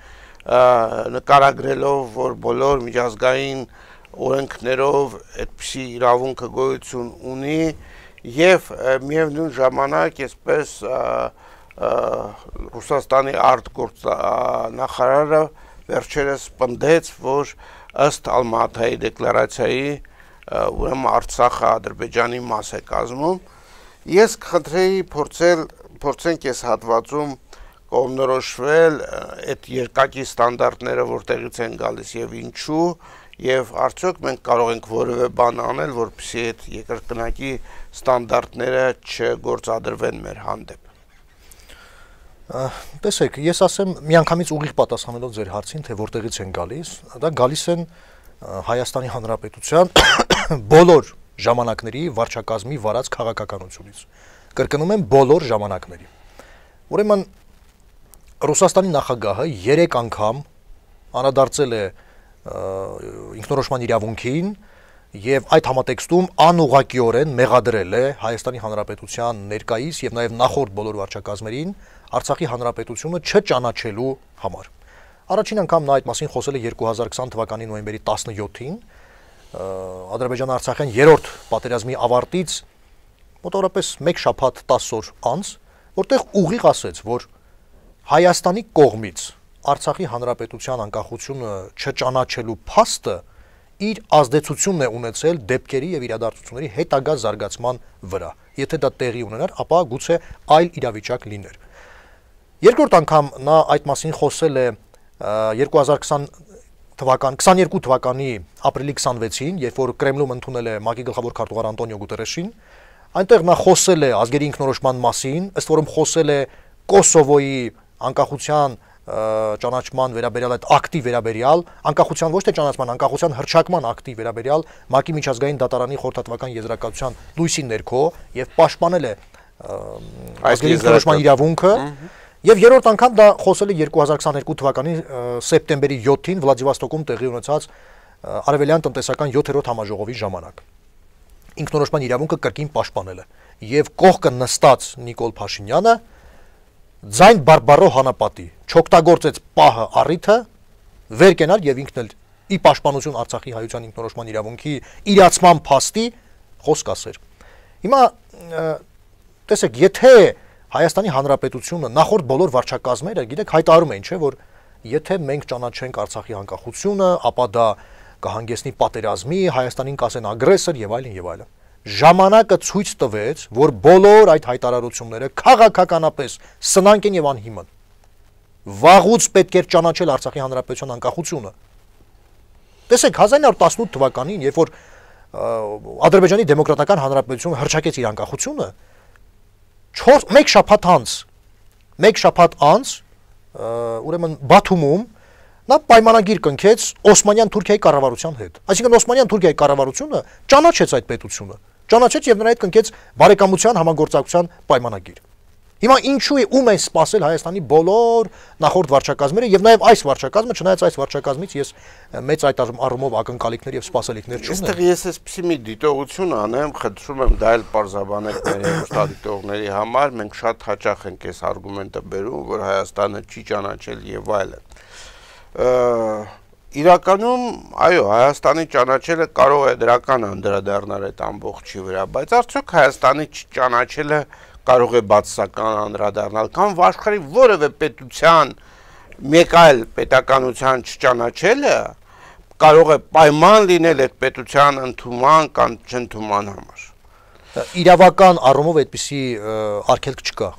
նկարագրելով, որ բոլոր միջազգային օրենքներով այդպիսի իրավունքը գոյություն ունի եւ միևնույն ժամանակ այսպես Ռուսաստանի արտգործնախարարը վերջերս պնդեց, որ ըստ Ալմատայի դեկլարացիայի ուրեմն Արցախը Ադրբեջանի մաս է կազմում։ Ես կխնդրեի փորձել փորձենք այս հատվածում կողմնորոշվել այդ երկակի ստանդարտները որտեղից են գալիս եւ ինչու եւ արդյոք մենք կարող ենք որևէ բան անել, որպեսզի այդ երկրկնակի ստանդարտները չգործադրվեն մեր հանդեպ։ Տեսեք, ես ասեմ միանգամից ուղիղ պատասխանելով ձեր հարցին, թե որտեղից են գալիս, դա գալիս են Հայաստանի Հանրապետության բոլոր ժամանակների վարչակազմի վարած քաղաքականությունից։ Կրկնում եմ բոլոր ժամանակների։ Ուրեմն Ռուսաստանի նախագահը երեք անգամ անդրադարձել է ինքնորոշման իրավունքին եւ այդ համատեքստում անուղղակիորեն մեղադրել է Հայաստանի Հանրապետության ներկայիս եւ նաեւ նախորդ բոլոր վարչակազմերին Արցախի Հանրապետությունը չճանաչելու համար։ Առաջին անգամ նա այդ մասին խոսել է երկու հազար քսան թվականի նոյեմբերի տասնյոթին Ադրբեջան-Արցախյան երրորդ պատերազմի ավարտից մոտավորապես մեկ շաբաթ տասը օր անց, որտեղ ուղիղ ասեց, որ Հայաստանի կողմից Արցախի Հանրապետության անկախությունը չճանաչելու փաստը իր ազդեցությունն է ունեցել դեպքերի եւ իրադարձությունների հետագա զարգացման վրա։ Եթե դա տեղի ունենար, ապա գուցե այլ իրավիճակ լիներ։ Երկրորդ անգամ նա այդ մասին խոսել է երկու հազար քսան թվական քսաներկու թվականի ապրիլի քսանվեցին, երբ որ Կրեմլում ընդունել է ՄԱԿ-ի գլխավոր քարտուղար Անտոնիո Գուտերեշին, այնտեղ նա խոսել է ազգերի ինքնորոշման մասին, ըստ որում խոսել է Կոսովոյի անկախության ճանաչման վերաբերյալ այդ ակտի վերաբերյալ, անկախության ոչ թե ճանաչման, անկախության հռչակման ակտի վերաբերյալ ՄԱԿ-ի միջազգային դատարանի խորհրդատվական եզրակացության լույսի ներքո եւ պաշտպանել է ազգերի ինքնորոշման իրավունքը եւ երրորդ անգամ դա խոսել է երկու հազար քսաներկու թվականի սեպտեմբերի յոթին Վլադիվոստոկում տեղի ունեցած արևելյան տնտեսական յոթերորդ համաժողովի ժամանակ։ Ինքնորոշման իրավունքը կրկին պաշտպանել է եւ կողքը նստած Նիկոլ Փաշինյանը ձայն բարբարո հանապատի չօգտագործեց պահը առիթը վեր կենալ եւ ինքն էլ ի պաշտպանություն Արցախի հայության ինքնորոշման իրավունքի իրացման փաստի խոսք ասեր։ Հիմա տեսեք, եթե Հայաստանի Հանրապետությունը նախորդ բոլոր վարչակազմերը, գիտեք, հայտարարում էին, չէ, որ եթե մենք ճանաչենք Արցախի անկախությունը, ապա դա կհանգեցնի պատերազմի, Հայաստանին կասեն ագրեսոր եւ այլն եւ այլն։ Ժամանակը ցույց տվեց, որ բոլոր այդ հայտարարությունները քաղաքականապես սնանկ են եւ անհիմն։ Վաղուց պետք էր ճանաչել Արցախի Հանրապետության անկախությունը։ Տեսեք, հազար ինը հարյուր տասնութ թվականին, երբ որ Ադրբեջանի Դեմոկրատական Հանրապետությունը հռչակեց իր անկախությունը, մեկ շաբաթ անց, մեկ շաբաթ անց, ուրեմն Բաթումում նա պայմանագիր կնքեց Օսմանյան Թուրքիայի կառավարության հետ։ Այսինքն Օսմանյան Թուրքիայի կառավարությունը ճանաչեց այդ պետությունը, ճանաչեց եւ նրա հետ կնքեց բարեկամության համագործակցության պայմանագիր։ Հիմա ինչու է ում են սպասել Հայաստանի բոլոր նախորդ վարչակազմերը եւ նաեւ այս վարչակազմը, չնայած այս վարչակազմից ես մեծ այդ առումով ակնկալիքներ եւ սպասելիքներ չունեմ։ Այստեղ ես էսպիսի մի դիտողություն անեմ, խնդրում եմ դա էլ պարզաբանել մեր հեռուստադիտողների համար, մենք շատ հաճախ ենք այս արգումենտը բերում, որ Հայաստանը չի ճանաչել եւ այլն։ Իրականում, այո, Հայաստանի ճանաչելը կարող է դրական անդրադառնալ այդ ամբողջի վրա, բայց արդյոք Հայաստանի չճանաչելը կարող է բացասական անդրադառնալ, կամ աշխարհի որևէ պետության մեկ այլ պետականության չճանաչելը կարող է պայման լինել այդ պետության ընդունման կամ չընդունման համար։ Իրավական առումով այդպիսի արգելք չկա։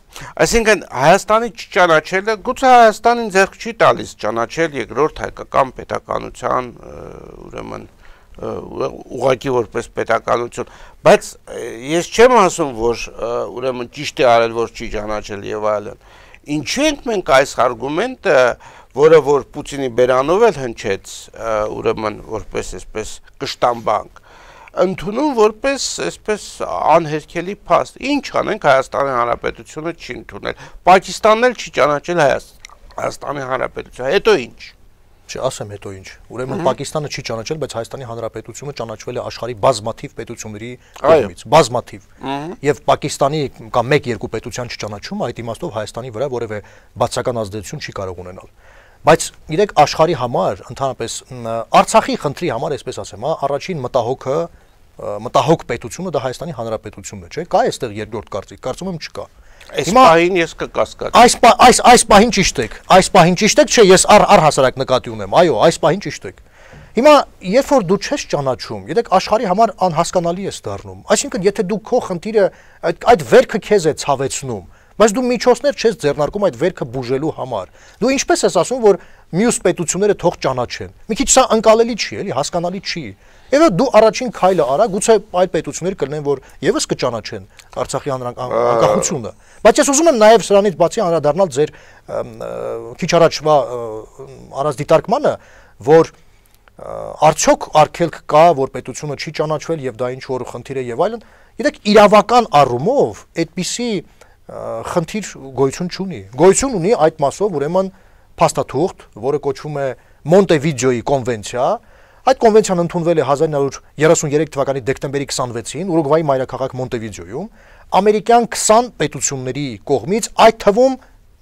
Այսինքն Հայաստանի չճանաչելը գուցե Հայաստանին ձեռք չի տալիս ճանաչել երկրորդ հայկական պետականության, ուրեմն ուղղակի որպես պետականություն, բայց ես չեմ ասում, որ ուրեմն ճիշտ է արել, որ չի ճանաչել եւ այլն։ Ինչու ենք մենք այս արգումենտը, որը որ Պուտինի բերանով էլ հնչեց, ուրեմն որպես այսպես կշտամբանք, ընդունում որպես այսպես անհերքելի փաստ։ Ինչ անենք, Հայաստանի Հանրապետությունը չի ընդունել, Պակիստանն էլ չի ճանաչել Հայաստանի Հանրապետությունը, հետո ինչ։ Չասեմ հետո ինչ։ Ուրեմն Պակիստանը չի ճանաչել, բայց Հայաստանի Հանրապետությունը ճանաչվել է աշխարհի բազմաթիվ պետությունների կողմից, բազմաթիվ։ Եվ Պակիստանի կամ մեկ-երկու պետության չճանաչումը այդ իմաստով Հայաստանի վրա որևէ բացական ազդեցություն չի կարող ունենալ։ Բայց իրեք աշխարհի համար, ընդհանրապես Արցախի խնդրի համար, այսպես ասեմ, առաջին մտահոգը, մտահոգ պետությունը դա Հայաստանի Հանրապետությունն է, չէ՞։ Կա այստեղ երկրորդ կարծիք, կարծում եմ չկա։ Այս պահին ես կկասկածեմ։ Այս այս այս պահին ճիշտ եք, այս պահին ճիշտ եք, չէ, ես առհասարակ նկատի ունեմ, այո, այս պահին ճիշտ եք։ Հիմա երբ որ դու չես ճանաչում, գիտեք, աշխարհի համար անհասկանալի է դառնում։ Այսինքն, եթե դու քո խնդիրը այդ վերքը քեզ է ցավեցնում, բայց դու միջոցներ չես ձեռնարկում այդ վերքը բուժելու համար։ Դու ինչպես ես ասում, որ մյուս պետությունները թող ճանաչեն։ Մի քիչ սա ընկալելի չի, էլի, հասկանալի չի։ Եվ դու առաջին քայլը արա, գուցե այլ պետությունները կլինեն, որ եւս կճանաչեն Արցախի անկախությունը։ Բայց ես ուզում եմ նաեւ սրանից բացի անդրադառնալ ձեր քիչ առաջվա առանց դիտարկմանը, որ արդյոք արգելք կա, որ պետությունը չի ճանաչվել եւ դա ինչ որ խնդիր է եւ այլն։ Գիտեք, իրավական առումով այդպիսի խնդիր գոյություն չունի։ Գոյություն ունի այդ մասով, ուրեմն փաստաթուղթ, որը կոչվում է Մոնտեվիդեոյի կոնվենցիա։ Այդ կոնվենցիան ընդունվել է հազար ինը հարյուր երեսուններեք թվականի դեկտեմբերի քսանվեցին Ուրուգվայի մայրաքաղաք Մոնտեվիդեոյում ամերիկյան քսան պետությունների կողմից, այդ թվում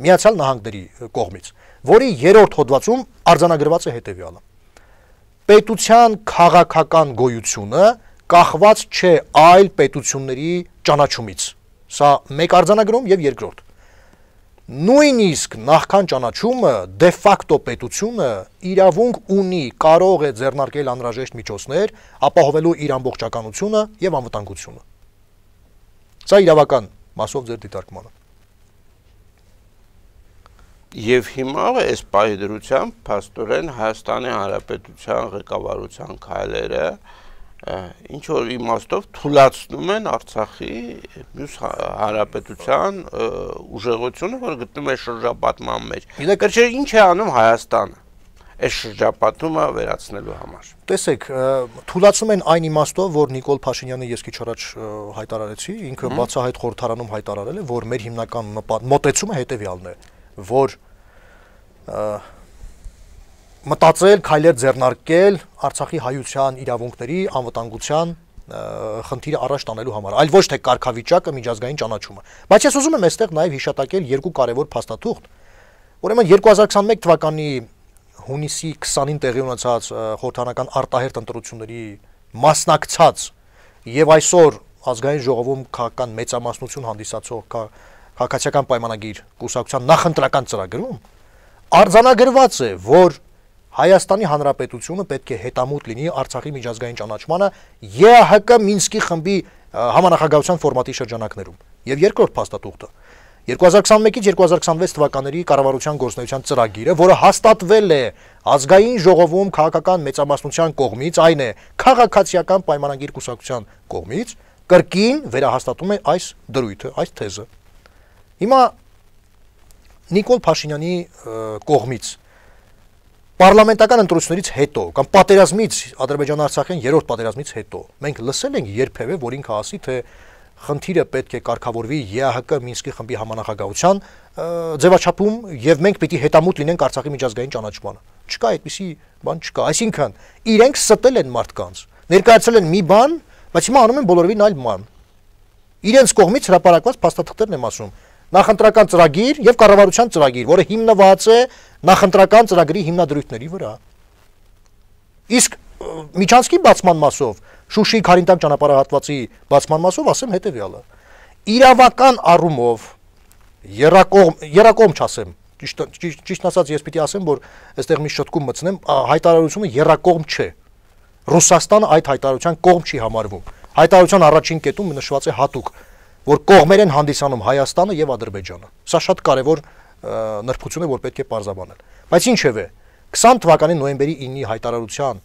Միացյալ Նահանգների կողմից, որի երրորդ հոդվածում արձանագրված է հետևյալը. պետության քաղաքական գոյությունը կախված չէ այլ պետությունների ճանաչումից։ Սա մեկ արձանագրում եւ երկրորդ։ Նույնիսկ նախքան ճանաչումը դե ֆակտո պետությունը իրավունք ունի, կարող է ձեռնարկել անհրաժեշտ միջոցներ, ապահովելու իր ամբողջականությունը եւ անվտանգությունը։ Սա իրավական մասով ձեր դիտարկմանը։ Եվ հիմա այս պահի դրությամբ փաստորեն Հայաստանի Հանրապետության ղեկավարության քայլերը ինչ որ իմաստով թույլատնում են Արցախի մյուս հանրապետության ուժեղությունը, որ գտնում է շրջապատման մեջ։ Գրչեր ինչ է անում Հայաստանը այս շրջապատումը վերացնելու համար։ Տեսեք, թույլատնում են այն իմաստով, որ Նիկոլ Փաշինյանը ես քիչ առաջ հայտարարեցի, ինքը բացահայտ խորհրդարանում հայտարարել է, որ մեր հիմնական մոտեցումը հետևյալն է, որ մտածել, քայլեր ձեռնարկել Արցախի հայության իրավունքների, անվտանգության խնդիրը առաջ տանելու համար, այլ ոչ թե կարգավիճակը, միջազգային ճանաչումը։ Բայց ես ուզում եմ այստեղ նաև հիշատակել երկու կարևոր փաստաթուղթ։ Ուրեմն երկու հազար քսաներկու թվականի հունիսի քսանին տեղի ունեցած խորհրդարանական արտահերթ ընտրությունների մասնակցած եւ այսօր ազգային ժողովում քաղաքական մեծամասնություն հանդիսացող քաղաքացիական պայմանագիր կուսակցության նախընտրական ծրագրում արձանագրված է, որ Հայաստանի Հանրապետությունը պետք է հետամուտ լինի Արցախի միջազգային ճանաչմանը Է Հ Կ Մինսկի խմբի համանախագահության ֆորմատի շրջանակներում։ Եվ երկրորդ փաստաթուղթը երկու հազար քսաներկուից երկու հազար քսանվեց թվականների կառավարության գործունեության ծրագիրը, որը հաստատվել է ազգային ժողովում քաղաքական մեծամասնության կողմից, այն է քաղաքացիական պայմանագիր կուսակցության կողմից, կրկին վերահաստատում է այս դրույթը, այս թեզը։ Հիմա Նիկոլ Փաշինյանի կողմից Պարլամենտական ընտրություններից հետո կամ պատերազմից Ադրբեջան-Արցախյան երրորդ պատերազմից հետո մենք լսել ենք երբևէ, որ ինքը ասի, թե խնդիրը պետք է կարգավորվի Է Հ Կ Մինսկի խմբի համանախագահության ձևաչափում եւ մենք պիտի հետամուտ լինենք Արցախի միջազգային ճանաչմանը։ Չկա այդպիսի բան չկա։ Այսինքն իրենք ստել են մարդկանց, ներկայացրել են մի բան, բայց հիմա անում են բոլորովին այլ բան։ Իրենց կողմից հրապարակված փաստաթղթերն եմ ասում։ Նախընտրական ծրագիր եւ կառավարության ծրագիր, որը հիմնված է նախընտրական ծրագրի հիմնադրույթների վրա։ Իսկ միջանցքի բացման մասով, Շուշի Քարինտակ ճանապարհահատվածի բացման մասով ասեմ հետեւյալը. իրավական առումով երակողմ երակողմ չասեմ, ճիշտ ճիշտ ասած ես պիտի ասեմ, որ այստեղ մի շտկում մտցնեմ, հայտարարությունը երակողմ չէ։ Ռուսաստանը այդ հայտարարության կողմ չի համարվում։ Հայտարարության առաջին կետում նշված է հատուկ, որ կողմեր են հանդիսանում Հայաստանը եւ Ադրբեջանը։ Սա շատ կարեւոր նրբություն է, որ պետք է պարզաբանել։ Բայց ինչևէ, քսան թվականի նոյեմբերի ինի հայտարարության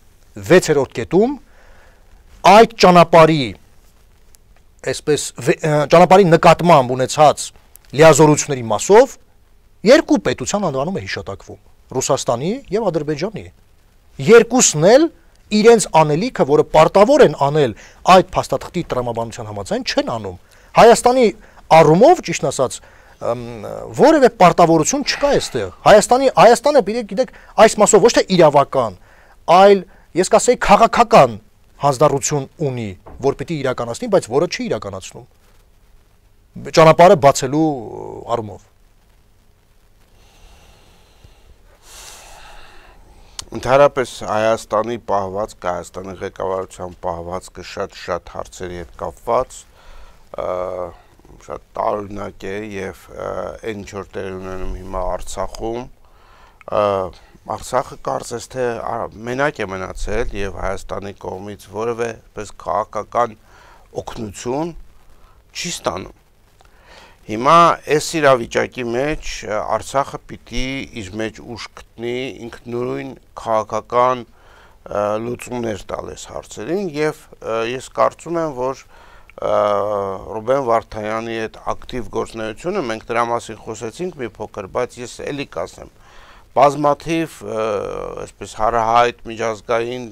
վեցերորդ կետում այդ ճանապարհի այսպես ճանապարհի նկատմամբ ունեցած լիազորությունների մասով երկու պետության անվանում է հիշատակվում՝ Ռուսաստանի եւ Ադրբեջանի։ Երկուսն էլ իրենց անելիքը, որը պարտավոր են անել այդ փաստաթղթի տրամաբանության համաձայն, չեն անում։ Հայաստանի առումով, ճիշտ ասած, որևէ պարտավորություն չկա այստեղ։ Հայաստանի Հայաստանը գիտեք, այս մասով ոչ թե իրավական, այլ ես կասեի քաղաքական հանձնառություն ունի, որ պիտի իրականացնի, բայց որը չի իրականացնում։ Ճանապարհը բացելու առումով։ Ընդհանրապես Հայաստանի պահվածքը, Հայաստանի ղեկավարության պահվածքը շատ-շատ հարցերի հետ կապված շատ տարօրինակ է եւ այն ինչ որ տեղ ունենում հիմա Արցախում, Արցախը կարծես թե մենակ է մնացել եւ Հայաստանի կողմից որևէ պես քաղաքական օգնություն չի ստանում։ Հիմա այս իրավիճակի մեջ Արցախը պիտի իր մեջ ուժ գտնի ինքնուրույն քաղաքական լուծումներ տալ այս հարցերին եւ ես կարծում եմ, որ Ռուբեն Վարդանյանի այդ ակտիվ գործունեությունը մենք դրա մասին խոսեցինք մի փոքր, բայց ես էլի կասեմ, բազմաթիվ այսպես հարահայտ միջազգային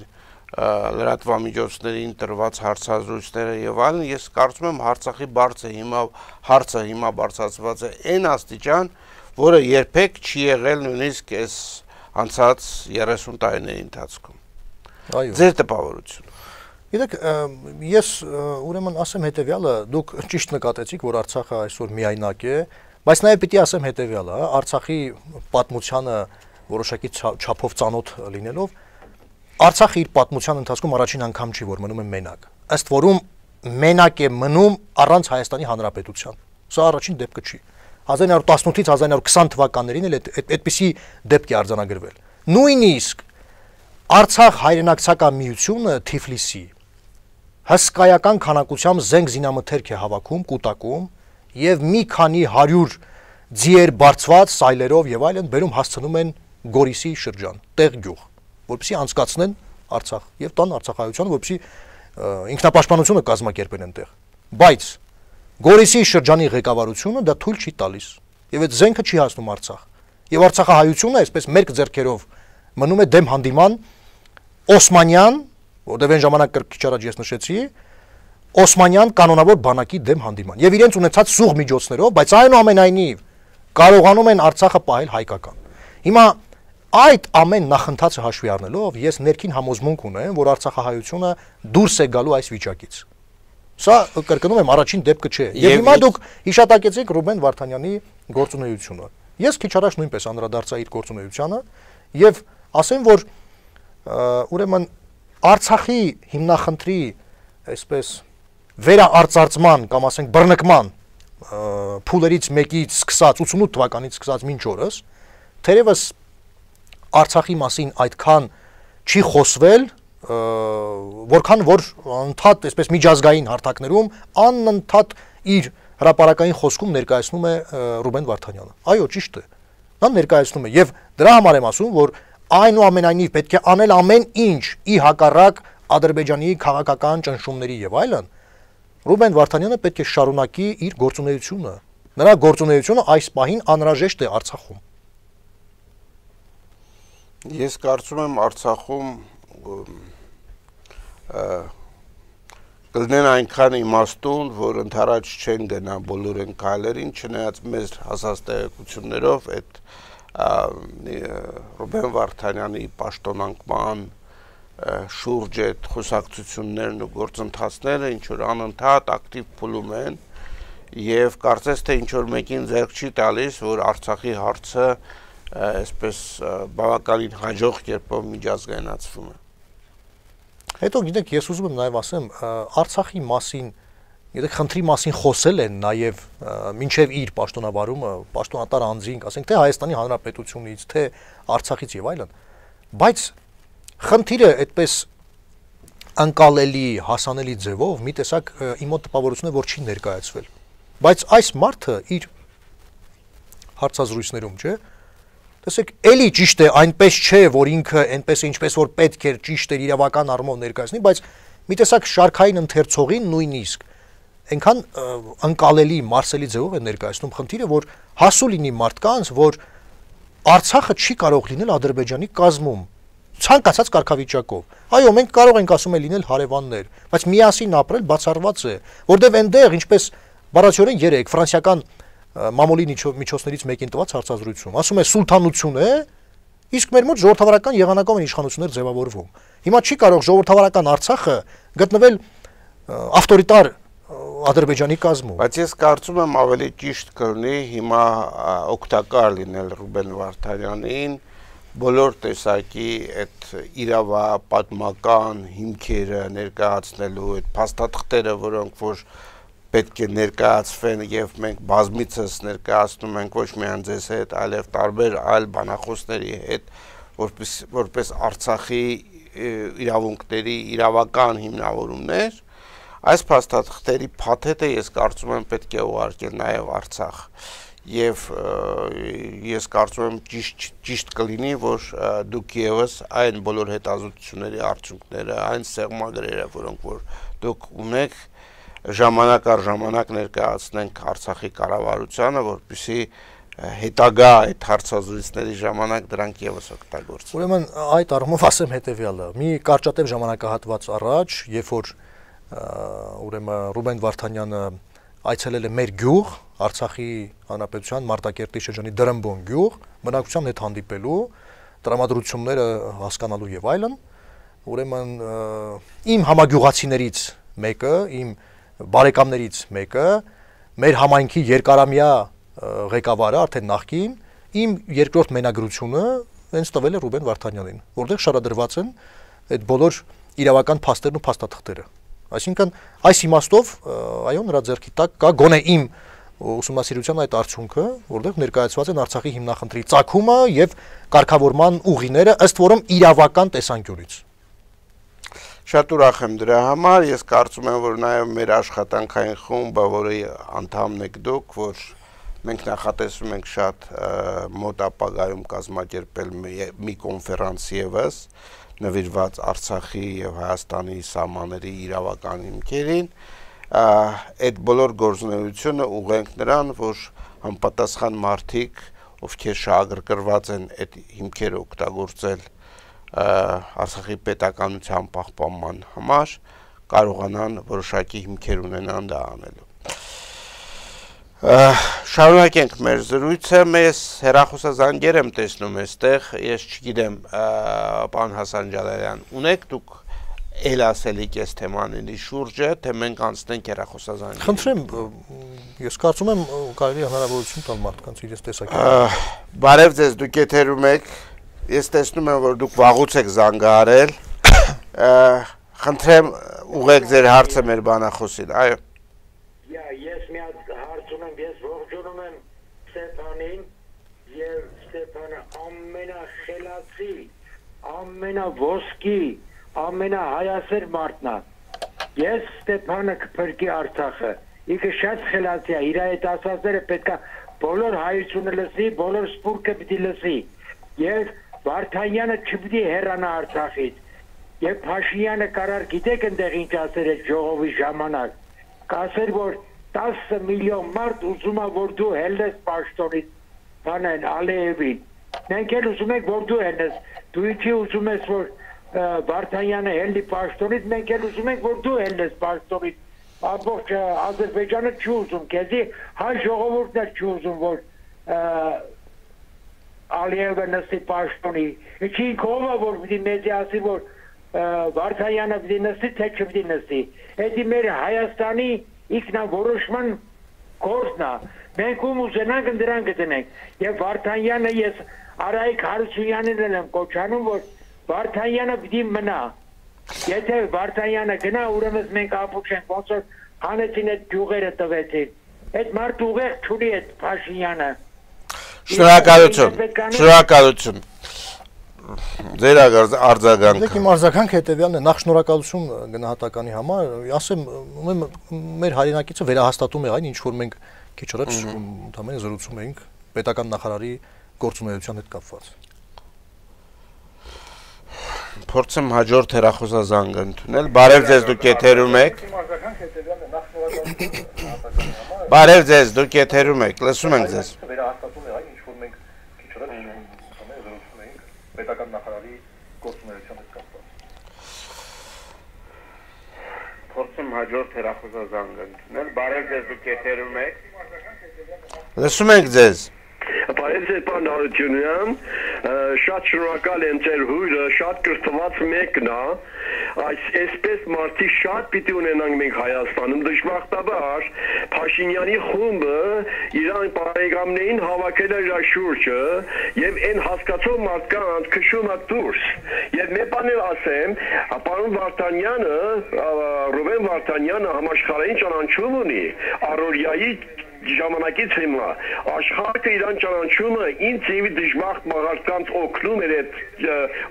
լրատվամիջոցներին տրված հարցազրույցները եւ այլն, ես կարծում եմ Արցախի բարձը հիմա հարցը հիմա բարձրացված է այն աստիճան, որը երբեք չի եղել նույնիսկ այս անցած երեսուն տարիների ընթացքում։ Այո։ Ձեր տպավորությունը։ Գիտեք, ես ուրեմն ասեմ հետեւյալը, դուք ճիշտ նկատեցիք, որ Արցախը այսօր միայնակ է, բայց նաեւ պիտի ասեմ հետեւյալը, Արցախի պատմությանը որոշակի չափով ծանոթ լինելով, Արցախը իր պատմության ընթացքում առաջին անգամ չի, որ մնում է մենակ։ Ըստ որում մենակ է մնում առանց Հայաստանի Հանրապետության։ Սա առաջին դեպքը չի։ հազար իննսուն տասնութից հազար իննսուն քսան թվականներին էլ այդպիսի դեպք է արձանագրվել։ Նույնիսկ Արցախ հայրենակցական միությունը Թիֆլիսի հսկայական քանակությամբ զենք զինամթերք է հավաքում, կուտակում եւ մի քանի հարյուր ձիեր բարձված սայլերով եւ այլն բերում հասցնում են Գորիսի շրջան, տեղ գյուղ, որպեսզի անցկացնեն Արցախ եւ տան Արցախայությանը, որպեսզի ինքնապաշտպանությունը կազմակերպեն այնտեղ։ Բայց Գորիսի շրջանի ղեկավարությունը դա թույլ չի տալիս եւ այդ զենքը չի հասնում Արցախ։ Եվ Արցախահայությունը այսպես մերկ ձեռքերով մնում է դեմ հանդիման Օսմանյան, որտեղ այն ժամանակ քիչ առաջ ես նշեցի, Օսմանյան կանոնավոր բանակի դեմ հանդիման եւ իրենց ունեցած սուղ միջոցներով, բայց այնուամենայնիվ կարողանում են Արցախը պահել հայկական։ Հիմա Այդ ամեն նախընթացը հաշվի առնելով ես ներքին համոզմունք ունեմ, որ Արցախահայությունը դուրս է գալու այս վիճակից։ Սա կրկնում եմ առաջին դեպքը չէ։ Եվ հիմա դուք հիշատակեցիք Ռուբեն Վարդանյանի գործունեությունը։ Ես քիչ առաջ նույնպես անդրադարձա իր գործունեությանը եւ ասեմ, որ ուրեմն Արցախի հիմնախնդրի այսպես վերաարծարծման կամ ասենք բռնկման փուլերից մեկից սկսած ութսունութ թվականից սկսած մինչ օրս թերևս Արցախի մասին այդքան չի խոսվել, որքան որ ընդհանուր այսպես միջազգային հարթակներում անընդհատ իր հրապարակային խոսքում ներկայացնում է Ռուբեն Վարդանյանը։ Այո, ճիշտ է։ Նա ներկայացնում է եւ դրա համար եմ ասում, որ այնուամենայնիվ պետք է անել ամեն ինչ ի հակառակ Ադրբեջանի քաղաքական ճնշումների եւ այլն։ Ռուբեն Վարդանյանը պետք է շարունակի իր գործունեությունը։ Նրա գործունեությունը այս պահին անհրաժեշտ է Արցախում։ Ես կարծում եմ Արցախում կլինեն այնքան իմաստուն, որ ընդառաջ չեն գնա բոլոր այն քայլերին, չնայած մեծ հասած տեղեկություններով այդ Ռուբեն Վարդանյանի պաշտոնանկման շուրջ այդ խոսակցություններն ու գործընթացները ինչ որ անընդհատ ակտիվ փուլում են եւ կարծես թե ինչ որ մեկին ձեռք չի տալիս, որ Արցախի հարցը այսպես բավականին հաջող կերպով միջազգայնացվում է։ Հետո գիտեք, ես ուզում եմ նաև ասեմ, Արցախի մասին, գիտեք, խնդրի մասին խոսել են նաև մինչև իր պաշտոնավարումը, պաշտոնատար անձինք, ասենք թե Հայաստանի Հանրապետությունից, թե Արցախից եւ այլն, բայց խնդիրը այդպես անկալելի, հասանելի ձևով մի տեսակ իմ մոտ տպավորություն է, որ չի ներկայացվել։ Բայց այս մարդը իր հարցազրույցներում, չէ՞, տեսեք, էլի ճիշտ է, այնպես չէ, որ ինքը այնպես է, ինչպես որ պետք էր ճիշտ էր իրավական առումով ներկայացնի, բայց մի տեսակ շարքային ընթերցողին նույնիսկ այնքան անկալելի մարսելի ձևով է ներկայացնում խնդիրը, որ հասու լինի մարդկանց, որ Արցախը չի կարող լինել Ադրբեջանի կազմում, ցանկացած կարգավիճակով։ Այո, մենք կարող ենք ասում է լինել հարևաններ, բայց միասին ապրել բացառված է, որտեղ այնտեղ ինչպես բառացիորեն երեք ֆրանսիական մամուլի միջոցներից մեկին տված հարցազրույցում ասում է սուլթանություն է, իսկ մեր մոտ ժողովրդավարական եղանակով են իշխանություններ ձևավորվում։ Հիմա չի կարող ժողովրդավարական Արցախը գտնվել ավտորիտար Ադրբեջանի կազմում։ Բայց ես կարծում եմ ավելի ճիշտ կլինի հիմա օգտակար լինել Ռուբեն Վարդանյանին բոլոր տեսակի այդ իրավապատմական հիմքերը ներկայացնելու, այդ փաստաթղթերը, որոնք որ պետք է ներկայացվեն եւ մենք բազմիցս ներկայացնում ենք ոչ միայն ձեզ հետ, այլև տարբեր այլ բանախոսների հետ, որպես որպես Արցախի իրավունքների իրավական հիմնավորումներ, այս փաստաթղթերի փաթեթը ես կարծում եմ պետք է ուղարկել նաեւ Արցախ եւ ես կարծում եմ ճիշտ ճիշտ կլինի, որ դուք եւս այն բոլոր հետազոտությունների արդյունքները, այն սեղմագրերը, որոնք որ դուք ունեք, ժամանակ առ ժամանակ ներկայացնենք Արցախի կառավարությանը, որպեսզի հետագա այդ հարցազրույցների ժամանակ դրանք եւս օգտագործվեն։ Ուրեմն այդ առումով ասեմ հետեւյալը. մի կարճատև ժամանակահատված առաջ, երբ որ ուրեմն Ռուբեն Վարդանյանը այցելել է մեր գյուղ, Արցախի Հանրապետության Մարտակերտի շրջանի Դրմբոն գյուղ, բնակչության հետ հանդիպելու, տրամադրությունները հասկանալու եւ այլն, ուրեմն իմ համագյուղացիներից մեկը, իմ բարեկամներից մեկը, մեր համայնքի երկարամյա ղեկավարը, արդեն նախկին, իմ երկրորդ մենագրությունը հենց տվել է Ռուբեն Վարդանյանին, որտեղ շարադրված են այդ բոլոր իրավական փաստերն ու փաստաթղթերը։ Այսինքն այս իմաստով այո նրա ձեռքի տակ կա գոնե իմ ուսումնասիրության այդ արդյունքը, որտեղ ներկայացված են Արցախի հիմնախնդրի ծագումը եւ կարգավորման ուղիները, ըստ որում իրավական տեսանկյունից։ Շատ ուրախ եմ դրա համար, ես կարծում եմ, որ նաեւ մեր աշխատանքային խումբը, որի անդամն եք դուք, որ մենք նախատեսում ենք շատ մոտ ապագայում կազմակերպել մի կոնֆերանս եւս նվիրված Արցախի եւ Հայաստանի սահմանների իրավական հիմքերին, այդ բոլոր գործունեությունը ուղենք նրան, որ համապատասխան մարդիկ, ովքեր շահագրգռված են այդ հիմքերը օգտագործել Արցախի պետականության պահպանման համար, կարողանան որոշակի հիմքեր ունենան դա անելու։ Շարունակենք մեր զրույցը, մեզ հեռախոսազանգեր եմ տեսնում այստեղ, ես չգիտեմ, պարոն Հասան Ջալալյան, ունեք դուք էլ ասելիք այս թեմաների շուրջը, թե մենք անցնենք հեռախոսազանգեր։ Խնդրեմ, ես կարծում եմ կարելի է հնարավորություն տալ մարդկանց իրենց տեսակետը։ Բարև ձեզ, դուք եթերում եք, ես տեսնում եմ, որ դուք վաղուց եք զանգահարել, խնդրեմ ուղեք ձեր հարցը մեր բանախոսին, այո։ Ես մի հատ հարց ունեմ, ես ողջունում եմ Ստեփանին եւ Ստեփանը ամենախելացի, ամենավոսկի, ամենահայասեր մարդն է։ Ես Ստեփանը կփրկի Արցախը։ Ինքը շատ խելացի է, իր այդ ասածները պետք է բոլոր հայությունը լսի, բոլոր սփյուռքը պիտի լսի։ Եվ Վարդանյանը չպիտի հեռանա Արցախից։ Եվ Փաշինյանը կարար գիտեք այնտեղ ինչ ասել է ժողովի ժամանակ։ Կասեր, որ տասը միլիոն մարդ ուզում է, որ դու հելնես պաշտոնից բանեն Ալիևին։ Մենք էլ ուզում ենք, որ դու հելնես։ Դու ինչի ուզում ես, որ Վարդանյանը հելնի պաշտոնից, մենք էլ ուզում ենք, որ դու հելնես պաշտոնից։ Ամբողջ Ադրբեջանը չի ուզում, քեզի հայ ժողովուրդն է չի ուզում, որ Ալիևը նստի պաշտոնի։ Ինչի ինքով է, որ պիտի մեզի ասի, որ Վարդանյանը պիտի նստի, թե չպիտի նստի։ Էդի մեր Հայաստանի ինքնավորոշման գործն է։ Մենք ում ուզենանք դրան գտնենք։ Եվ Վարդանյանը ես Արայիկ Հարությունյանին եմ կոչանում, որ Վարդանյանը պիտի մնա։ Եթե Վարդանյանը գնա, ուրեմն մենք ապուչ ենք, ոնց որ հանեցին այդ գյուղերը տվեցին։ Այդ մարդ ուղեղ չունի այդ Փաշինյանը։ Շնորհակալություն։ Շնորհակալություն։ Ձեր արձագանքը։ Դեք իմ արձագանքը հետևյալն է, նախ շնորհակալություն գնահատականի համար, ասեմ, մեր հայրենակիցը վերահաստատում է այն, ինչ որ մենք քիչ առաջ ընդհանրապես զրուցում էինք պետական նախարարի գործունեության հետ կապված։ Փորձեմ հաջորդ հեռախոսազանգը ընդունել։ Բարև ձեզ, դուք եթերում եք։ Բարև ձեզ, դուք եթերում եք, լսում ենք ձեզ։ Վերահաստատում է այն, ինչ որ մենք քիչ առաջ զրուցում էինք պետական նախարարի գործունեության հետ կապված։ Փորձեմ հաջորդ հեռախոսազանգը ընդունել։ Բարև ձեզ, դուք եթերում եք։ Լսում ենք ձեզ։ Բարև ձեզ, պարոն Հարությունյան, շատ շնորհակալ եմ ձեր հույրը, շատ կրթված մեկն է, այսպես մարդի շատ պիտի ունենանք մենք Հայաստանում, դժբախտաբար Փաշինյանի խումբը իրան բարեկամներին հավաքել է իր շուրջը եւ այն հասկացող մարդկանց քշում է դուրս։ Եվ մի բան էլ ասեմ, պարոն Վարդանյանը, Ռուբեն Վարդանյանը համաշխարհային ճանաչում ունի, առօրյայի ժամանակից հիմա աշխարհը իրան ճանաչումը ինձ եւ դժբախտ մարդկանց օգնում էր այդ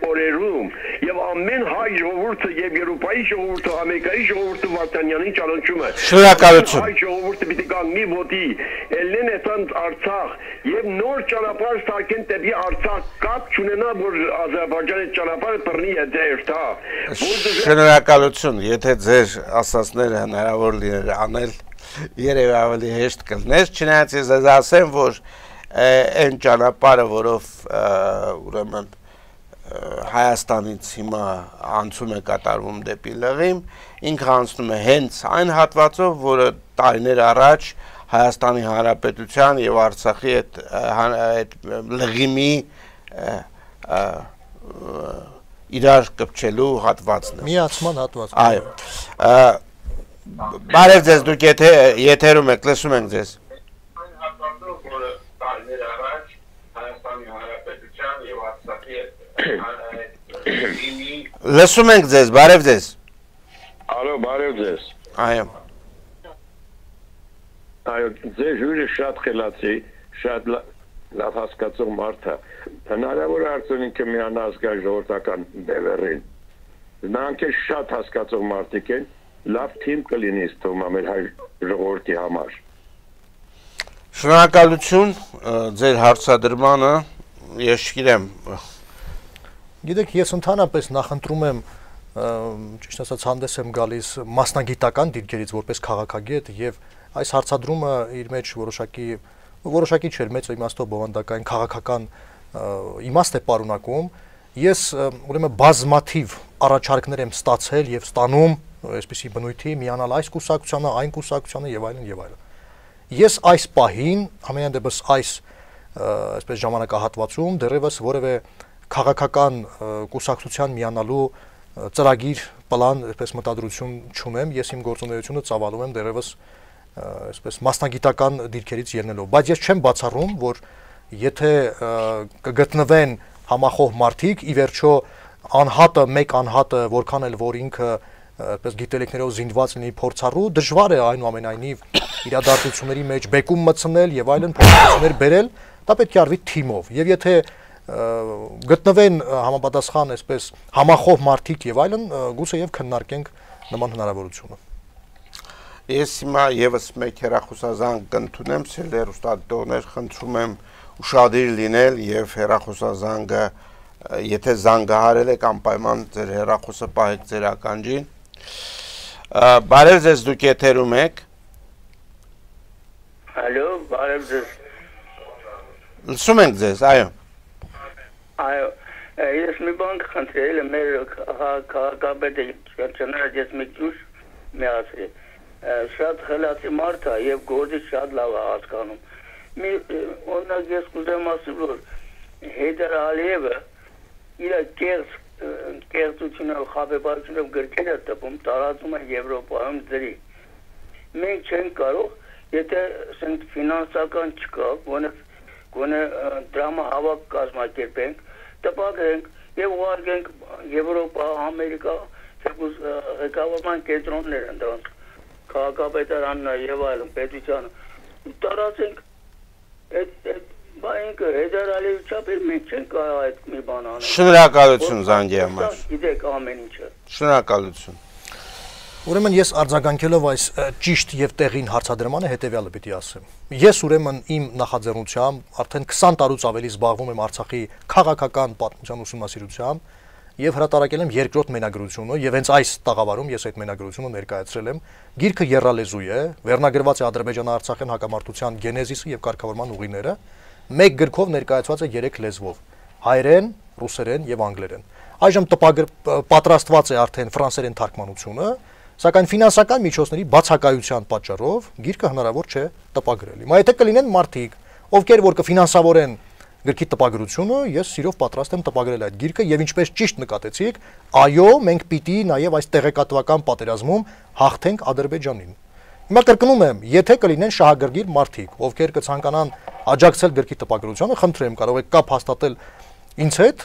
օրերում եւ ամեն հայ ժողովուրդը եւ Եվրոպայի ժողովուրդը, Ամերիկայի ժողովուրդը Վարդանյանին ճանաչում է։ Շնորհակալություն։ Հայ ժողովուրդը պիտի կանգնի ոտի, ելնեն այդան Արցախ եւ նոր ճանապարհ ստարկեն դեպի Արցախ, կապ չունենա որ Ադրբեջանի ճանապարհը բռնի է դերտ, հա։ Շնորհակալություն, եթե ձեր ասածները հնարավոր լիներ անել երևի ավելի հեշտ կլներ, չնայած ես ձեզ ասեմ, որ այն ճանապարհը, որով ուրեմն Հայաստանից հիմա անցում է կատարվում դեպի Լղիմ, ինքը անցնում է հենց այն հատվածով, որը տարիներ առաջ Հայաստանի Հանրապետության եւ Արցախի այդ Լղիմի իրար կպչելու հատվածն է։ Միացման հատված։ Այո։ Բարև ձեզ, դուք եթերում եք, լսում ենք ձեզ։ Լսում ենք ձեզ, բարև ձեզ։ Ալո, բարև ձեզ։ Այո։ Այո, ձեր հյուրը շատ խելացի, շատ լավ հասկացող մարդ է։ Հնարավոր է արդյոք ինքը միանա ազգային ժողովրդական բևեռին։ Նրանք էլ շատ հասկացող մարդիկ են։ Լավ թիմ կլինի ստում ամեր հայ ժողովրդի համար։ Շնորհակալություն ձեր հարցադրմանը, ես չգիտեմ։ Գիտեք, ես ընդհանրապես նախընտրում եմ, ճիշտ ասած, հանդես եմ գալիս մասնագիտական դիրքերից որպես քաղաքագետ եւ այս հարցադրումը իր մեջ որոշակի որոշակի չէր մեծ իմաստով բովանդակային քաղաքական իմաստ է պարունակում։ Ես ուրեմն բազմաթիվ առաջարկներ եմ ստացել եւ ստանում այսպիսի բնույթի միանալ այս կուսակցությանը, այն կուսակցությանը եւ այլն եւ այլն։ Ես այս պահին, ամենայն դեպս այս այսպես ժամանակահատվածում դեռևս որևէ քաղաքական կուսակցության միանալու ծրագիր, պլան, այսպես մտադրություն չունեմ, ես իմ գործունեությունը ծավալում եմ դեռևս այսպես մասնագիտական դիրքերից ելնելով, բայց ես չեմ բացառում, որ եթե կգտնվեն համախոհ մարդիկ, ի վերջո անհատը, մեկ անհատը, որքան էլ որ ինքը այսպես գիտելիքներով զինված լինի փորձառու, դժվար է այնուամենայնիվ իրադարձությունների մեջ բեկում մտցնել եւ այլն փոփոխություններ բերել, դա պետք է արվի թիմով։ Եվ եթե գտնվեն համապատասխան այսպես համախոհ մարդիկ եւ այլն, գուցե եւ քննարկենք նման հնարավորությունը։ Ես հիմա եւս մեկ հեռախոսազանգ կընդունեմ, սիրելի հեռուստադիտողներ, խնդրում եմ ուշադիր լինել եւ հեռախոսազանգը, եթե զանգահարել եք, անպայման ձեր հեռախոսը պահեք ձեր ականջին։ Բարև ձեզ, դուք եթերում եք։ Ալո, բարև ձեզ։ Լսում ենք ձեզ, այո։ Այո, ես մի բան կխնդրել եմ մեր քաղաքապետը չնայած ես մի քիչ միացրի։ Շատ խելացի մարդ է եւ գործը շատ լավ է հասկանում։ Մի օրինակ ես կուզեմ ասել, որ Հեյդար Ալիևը իր կեղծ կեղծությունով, խաբեբարությունով գրքեր է տպում, տարածում է Եվրոպայում ձրի։ Մենք չենք կարող, եթե ասենք ֆինանսական չկա, գոնե գոնե դրամահավաք կազմակերպենք, տպագրենք եւ ուղարկենք Եվրոպա, Ամերիկա, թեկուզ ղեկավարման կենտրոններ են դրանք, քաղաքապետարանն եւ այլն, պետությանը տարածենք այդ Բայց Հեյդար Ալիևի չափեր մենք չենք կարող այդ մի բան անել։ Շնորհակալություն զանգի համար։ Գիտեք ամեն ինչը։ Շնորհակալություն։ Ուրեմն ես արձագանքելով այս ճիշտ եւ տեղին հարցադրմանը հետեւյալը պիտի ասեմ։ Ես ուրեմն իմ նախաձեռնությամբ արդեն քսան տարուց ավելի զբաղվում եմ Արցախի քաղաքական պատմության ուսումնասիրությամբ եւ հրատարակել եմ երկրորդ մենագրությունը եւ հենց այս տաղավարում ես այդ մենագրությունը ներկայացրել եմ։ Գիրքը եռալեզու է, վերնագրված է Ադրբեջան-Արցախյան հակամարտության գենեզիսը եւ կարգավորման ուղիները։ Մեկ գրքով ներկայացված է երեք լեզվով՝ հայերեն, ռուսերեն եւ անգլերեն։ Այժմ պատրաստված է արդեն ֆրանսերեն թարգմանությունը, սակայն ֆինանսական միջոցների բացակայության պատճառով գիրքը հնարավոր չէ տպագրել։ Հիմա եթե կլինեն մարդիկ, ովքեր որ կֆինանսավորեն գրքի տպագրությունը, ես սիրով պատրաստ եմ տպագրել այդ գիրքը եւ ինչպես ճիշտ նկատեցիք, այո, մենք պիտի նաեւ այս տեղեկատվական պատերազմում հաղթենք Ադրբեջանին։ Հիմա կրկնում եմ, եթե կլինեն շահագրգիռ մարդիկ, ովքեր կցանկանան աջակցել գրքի տպագրությանը, խնդրեմ, կարող եք կապ հաստատել ինձ հետ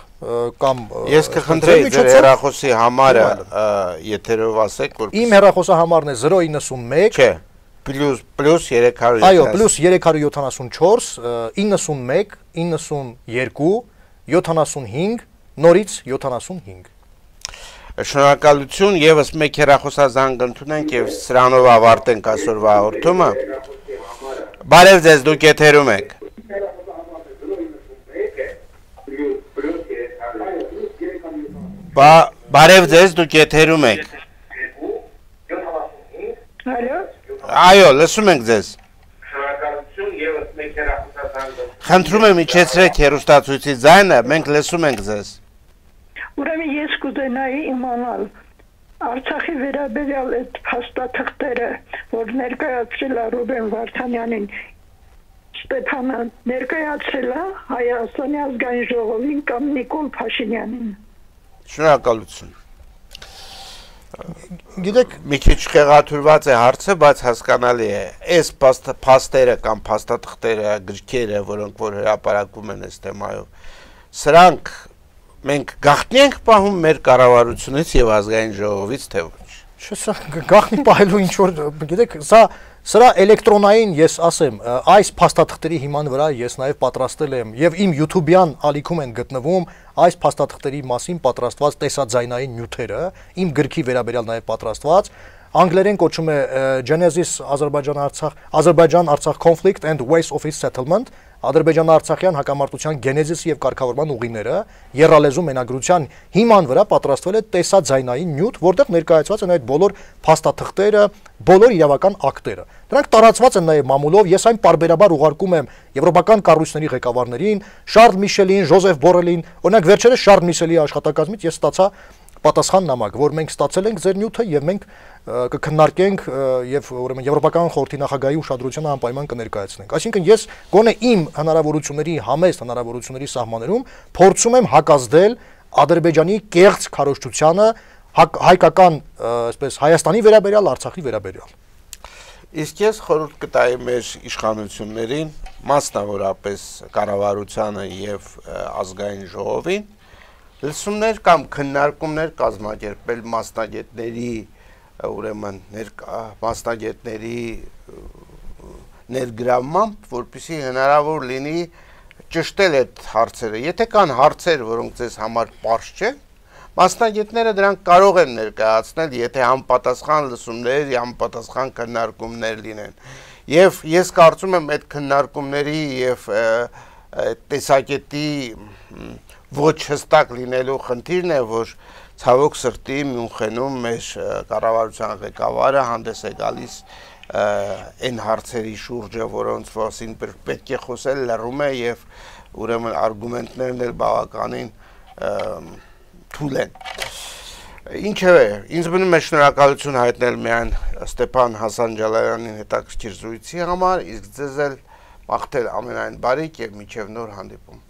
կամ ես կխնդրեի ձեր հեռախոսի համարը եթերով ասեք, որ իմ հեռախոսի համարն է zero nine one Չէ, պլյուս պլյուս երեք հարյուր Այո, պլյուս երեք հարյուր յոթանասունչորս իննսունմեկ իննսունյոթ յոթանասունհինգ նորից յոթանասունհինգ Շնորհակալություն, եւս մեկ հեռախոսազանգ ընդունենք եւ սրանով ավարտենք այսօրվա հաղորդումը։ Բարև ձեզ, դուք եթերում եք։ Բարև ձեզ, դուք եթերում եք։ Ալո։ Այո, լսում ենք ձեզ։ Շնորհակալություն, եւս մեկ հեռախոսազանգ։ Խնդրում եմ իջեցրեք հեռուստացույցի ձայնը, մենք լսում ենք ձեզ։ Ուրեմն ես կուզենայի իմանալ Արցախի վերաբերյալ այդ փաստաթղթերը, որ ներկայացրել է Ռուբեն Վարդանյանին, Ստեփանը ներկայացրել է Հայաստանի ազգային ժողովին կամ Նիկոլ Փաշինյանին։ Շնորհակալություն։ Գիտեք, մի քիչ խեղաթյուրված է հարցը, բայց հասկանալի է։ Այս փաստերը կամ փաստաթղթերը, գրքերը, որոնք որ հրապարակվում են այս թեմայով, սրանք մենք գաղտնի ենք պահում մեր կառավարությունից եւ ազգային ժողովից, թե ոչ։ Չէ, սա գաղտնի պահելու ինչ որ, գիտեք, սա սրա էլեկտրոնային ես ասեմ, այս փաստաթղթերի հիման վրա ես նաեւ պատրաստել եմ եւ իմ YouTube-յան ալիքում են գտնվում այս փաստաթղթերի մասին պատրաստված տեսաձայնային նյութերը, իմ գրքի վերաբերյալ նաեւ պատրաստված, անգլերեն կոչվում է Genesis Azerbaijan-Artsakh Azerbaijan-Artsakh Conflict and Ways of its Settlement, Ադրբեջան-Արցախյան հակամարտության գենեզիսը եւ կարգավորման ուղիները, եռալեզու մենագրության հիման վրա պատրաստվել է տեսաձայնային նյութ, որտեղ ներկայացված են այդ բոլոր փաստաթղթերը, բոլոր իրավական ակտերը։ Դրանք տարածված են նաեւ մամուլով, ես այն պարբերաբար ուղարկում եմ եվրոպական կառույցների ղեկավարներին, Շարլ Միշելին, Ժոզեֆ Բորելին, օրինակ վերջերս Շարլ Միշելի աշխատակազմից ես ստացա պատասխան նամակ, որ մենք ստացել ենք ձեր նյութը եւ մենք կքննարկենք եւ ուրեմն Եվրոպական խորհրդի նախագահի ուշադրությանը անպայման կներկայացնենք։ Այսինքն ես գոնե իմ հնարավորությունների համեստ հնարավորությունների սահմաններում փորձում եմ հակազդել Ադրբեջանի կեղծ քարոզչությանը հայկական, այսպես Հայաստանի վերաբերյալ, Արցախի վերաբերյալ։ Իսկ ես խորհուրդ կտայի մեր իշխանություններին, մասնավորապես կառավարությանը եւ ազգային ժողովին, լսումներ կամ քննարկումներ կազմակերպել մասնագետների, ուրեմն մասնագետների ներգրավմամբ, որպեսզի հնարավոր լինի ճշտել այդ հարցերը։ Եթե կան հարցեր, որոնք ձեզ համար պարզ չեն, մասնագետները դրանք կարող են ներկայացնել, եթե համապատասխան լսումներ, համապատասխան քննարկումներ լինեն։ Եվ ես կարծում եմ այդ քննարկումների եւ տեսակետի ոչ հստակ լինելու խնդիրն է, որ ցավոք սրտի Մյունխենում մեր կառավարության ղեկավարը հանդես է գալիս այն հարցերի շուրջը, որոնց մասին պետք է խոսել, լռում է եւ ուրեմն արգումենտներն էլ բավականին թույլ են։ Ինչևէ, ինձ մնում է շնորհակալություն հայտնել միայն Ստեփան Հասանջալյանին հետաքրքիր զրույցի համար, իսկ ձեզ էլ մաղթել ամենայն բարիք եւ մինչեւ նոր հանդիպում։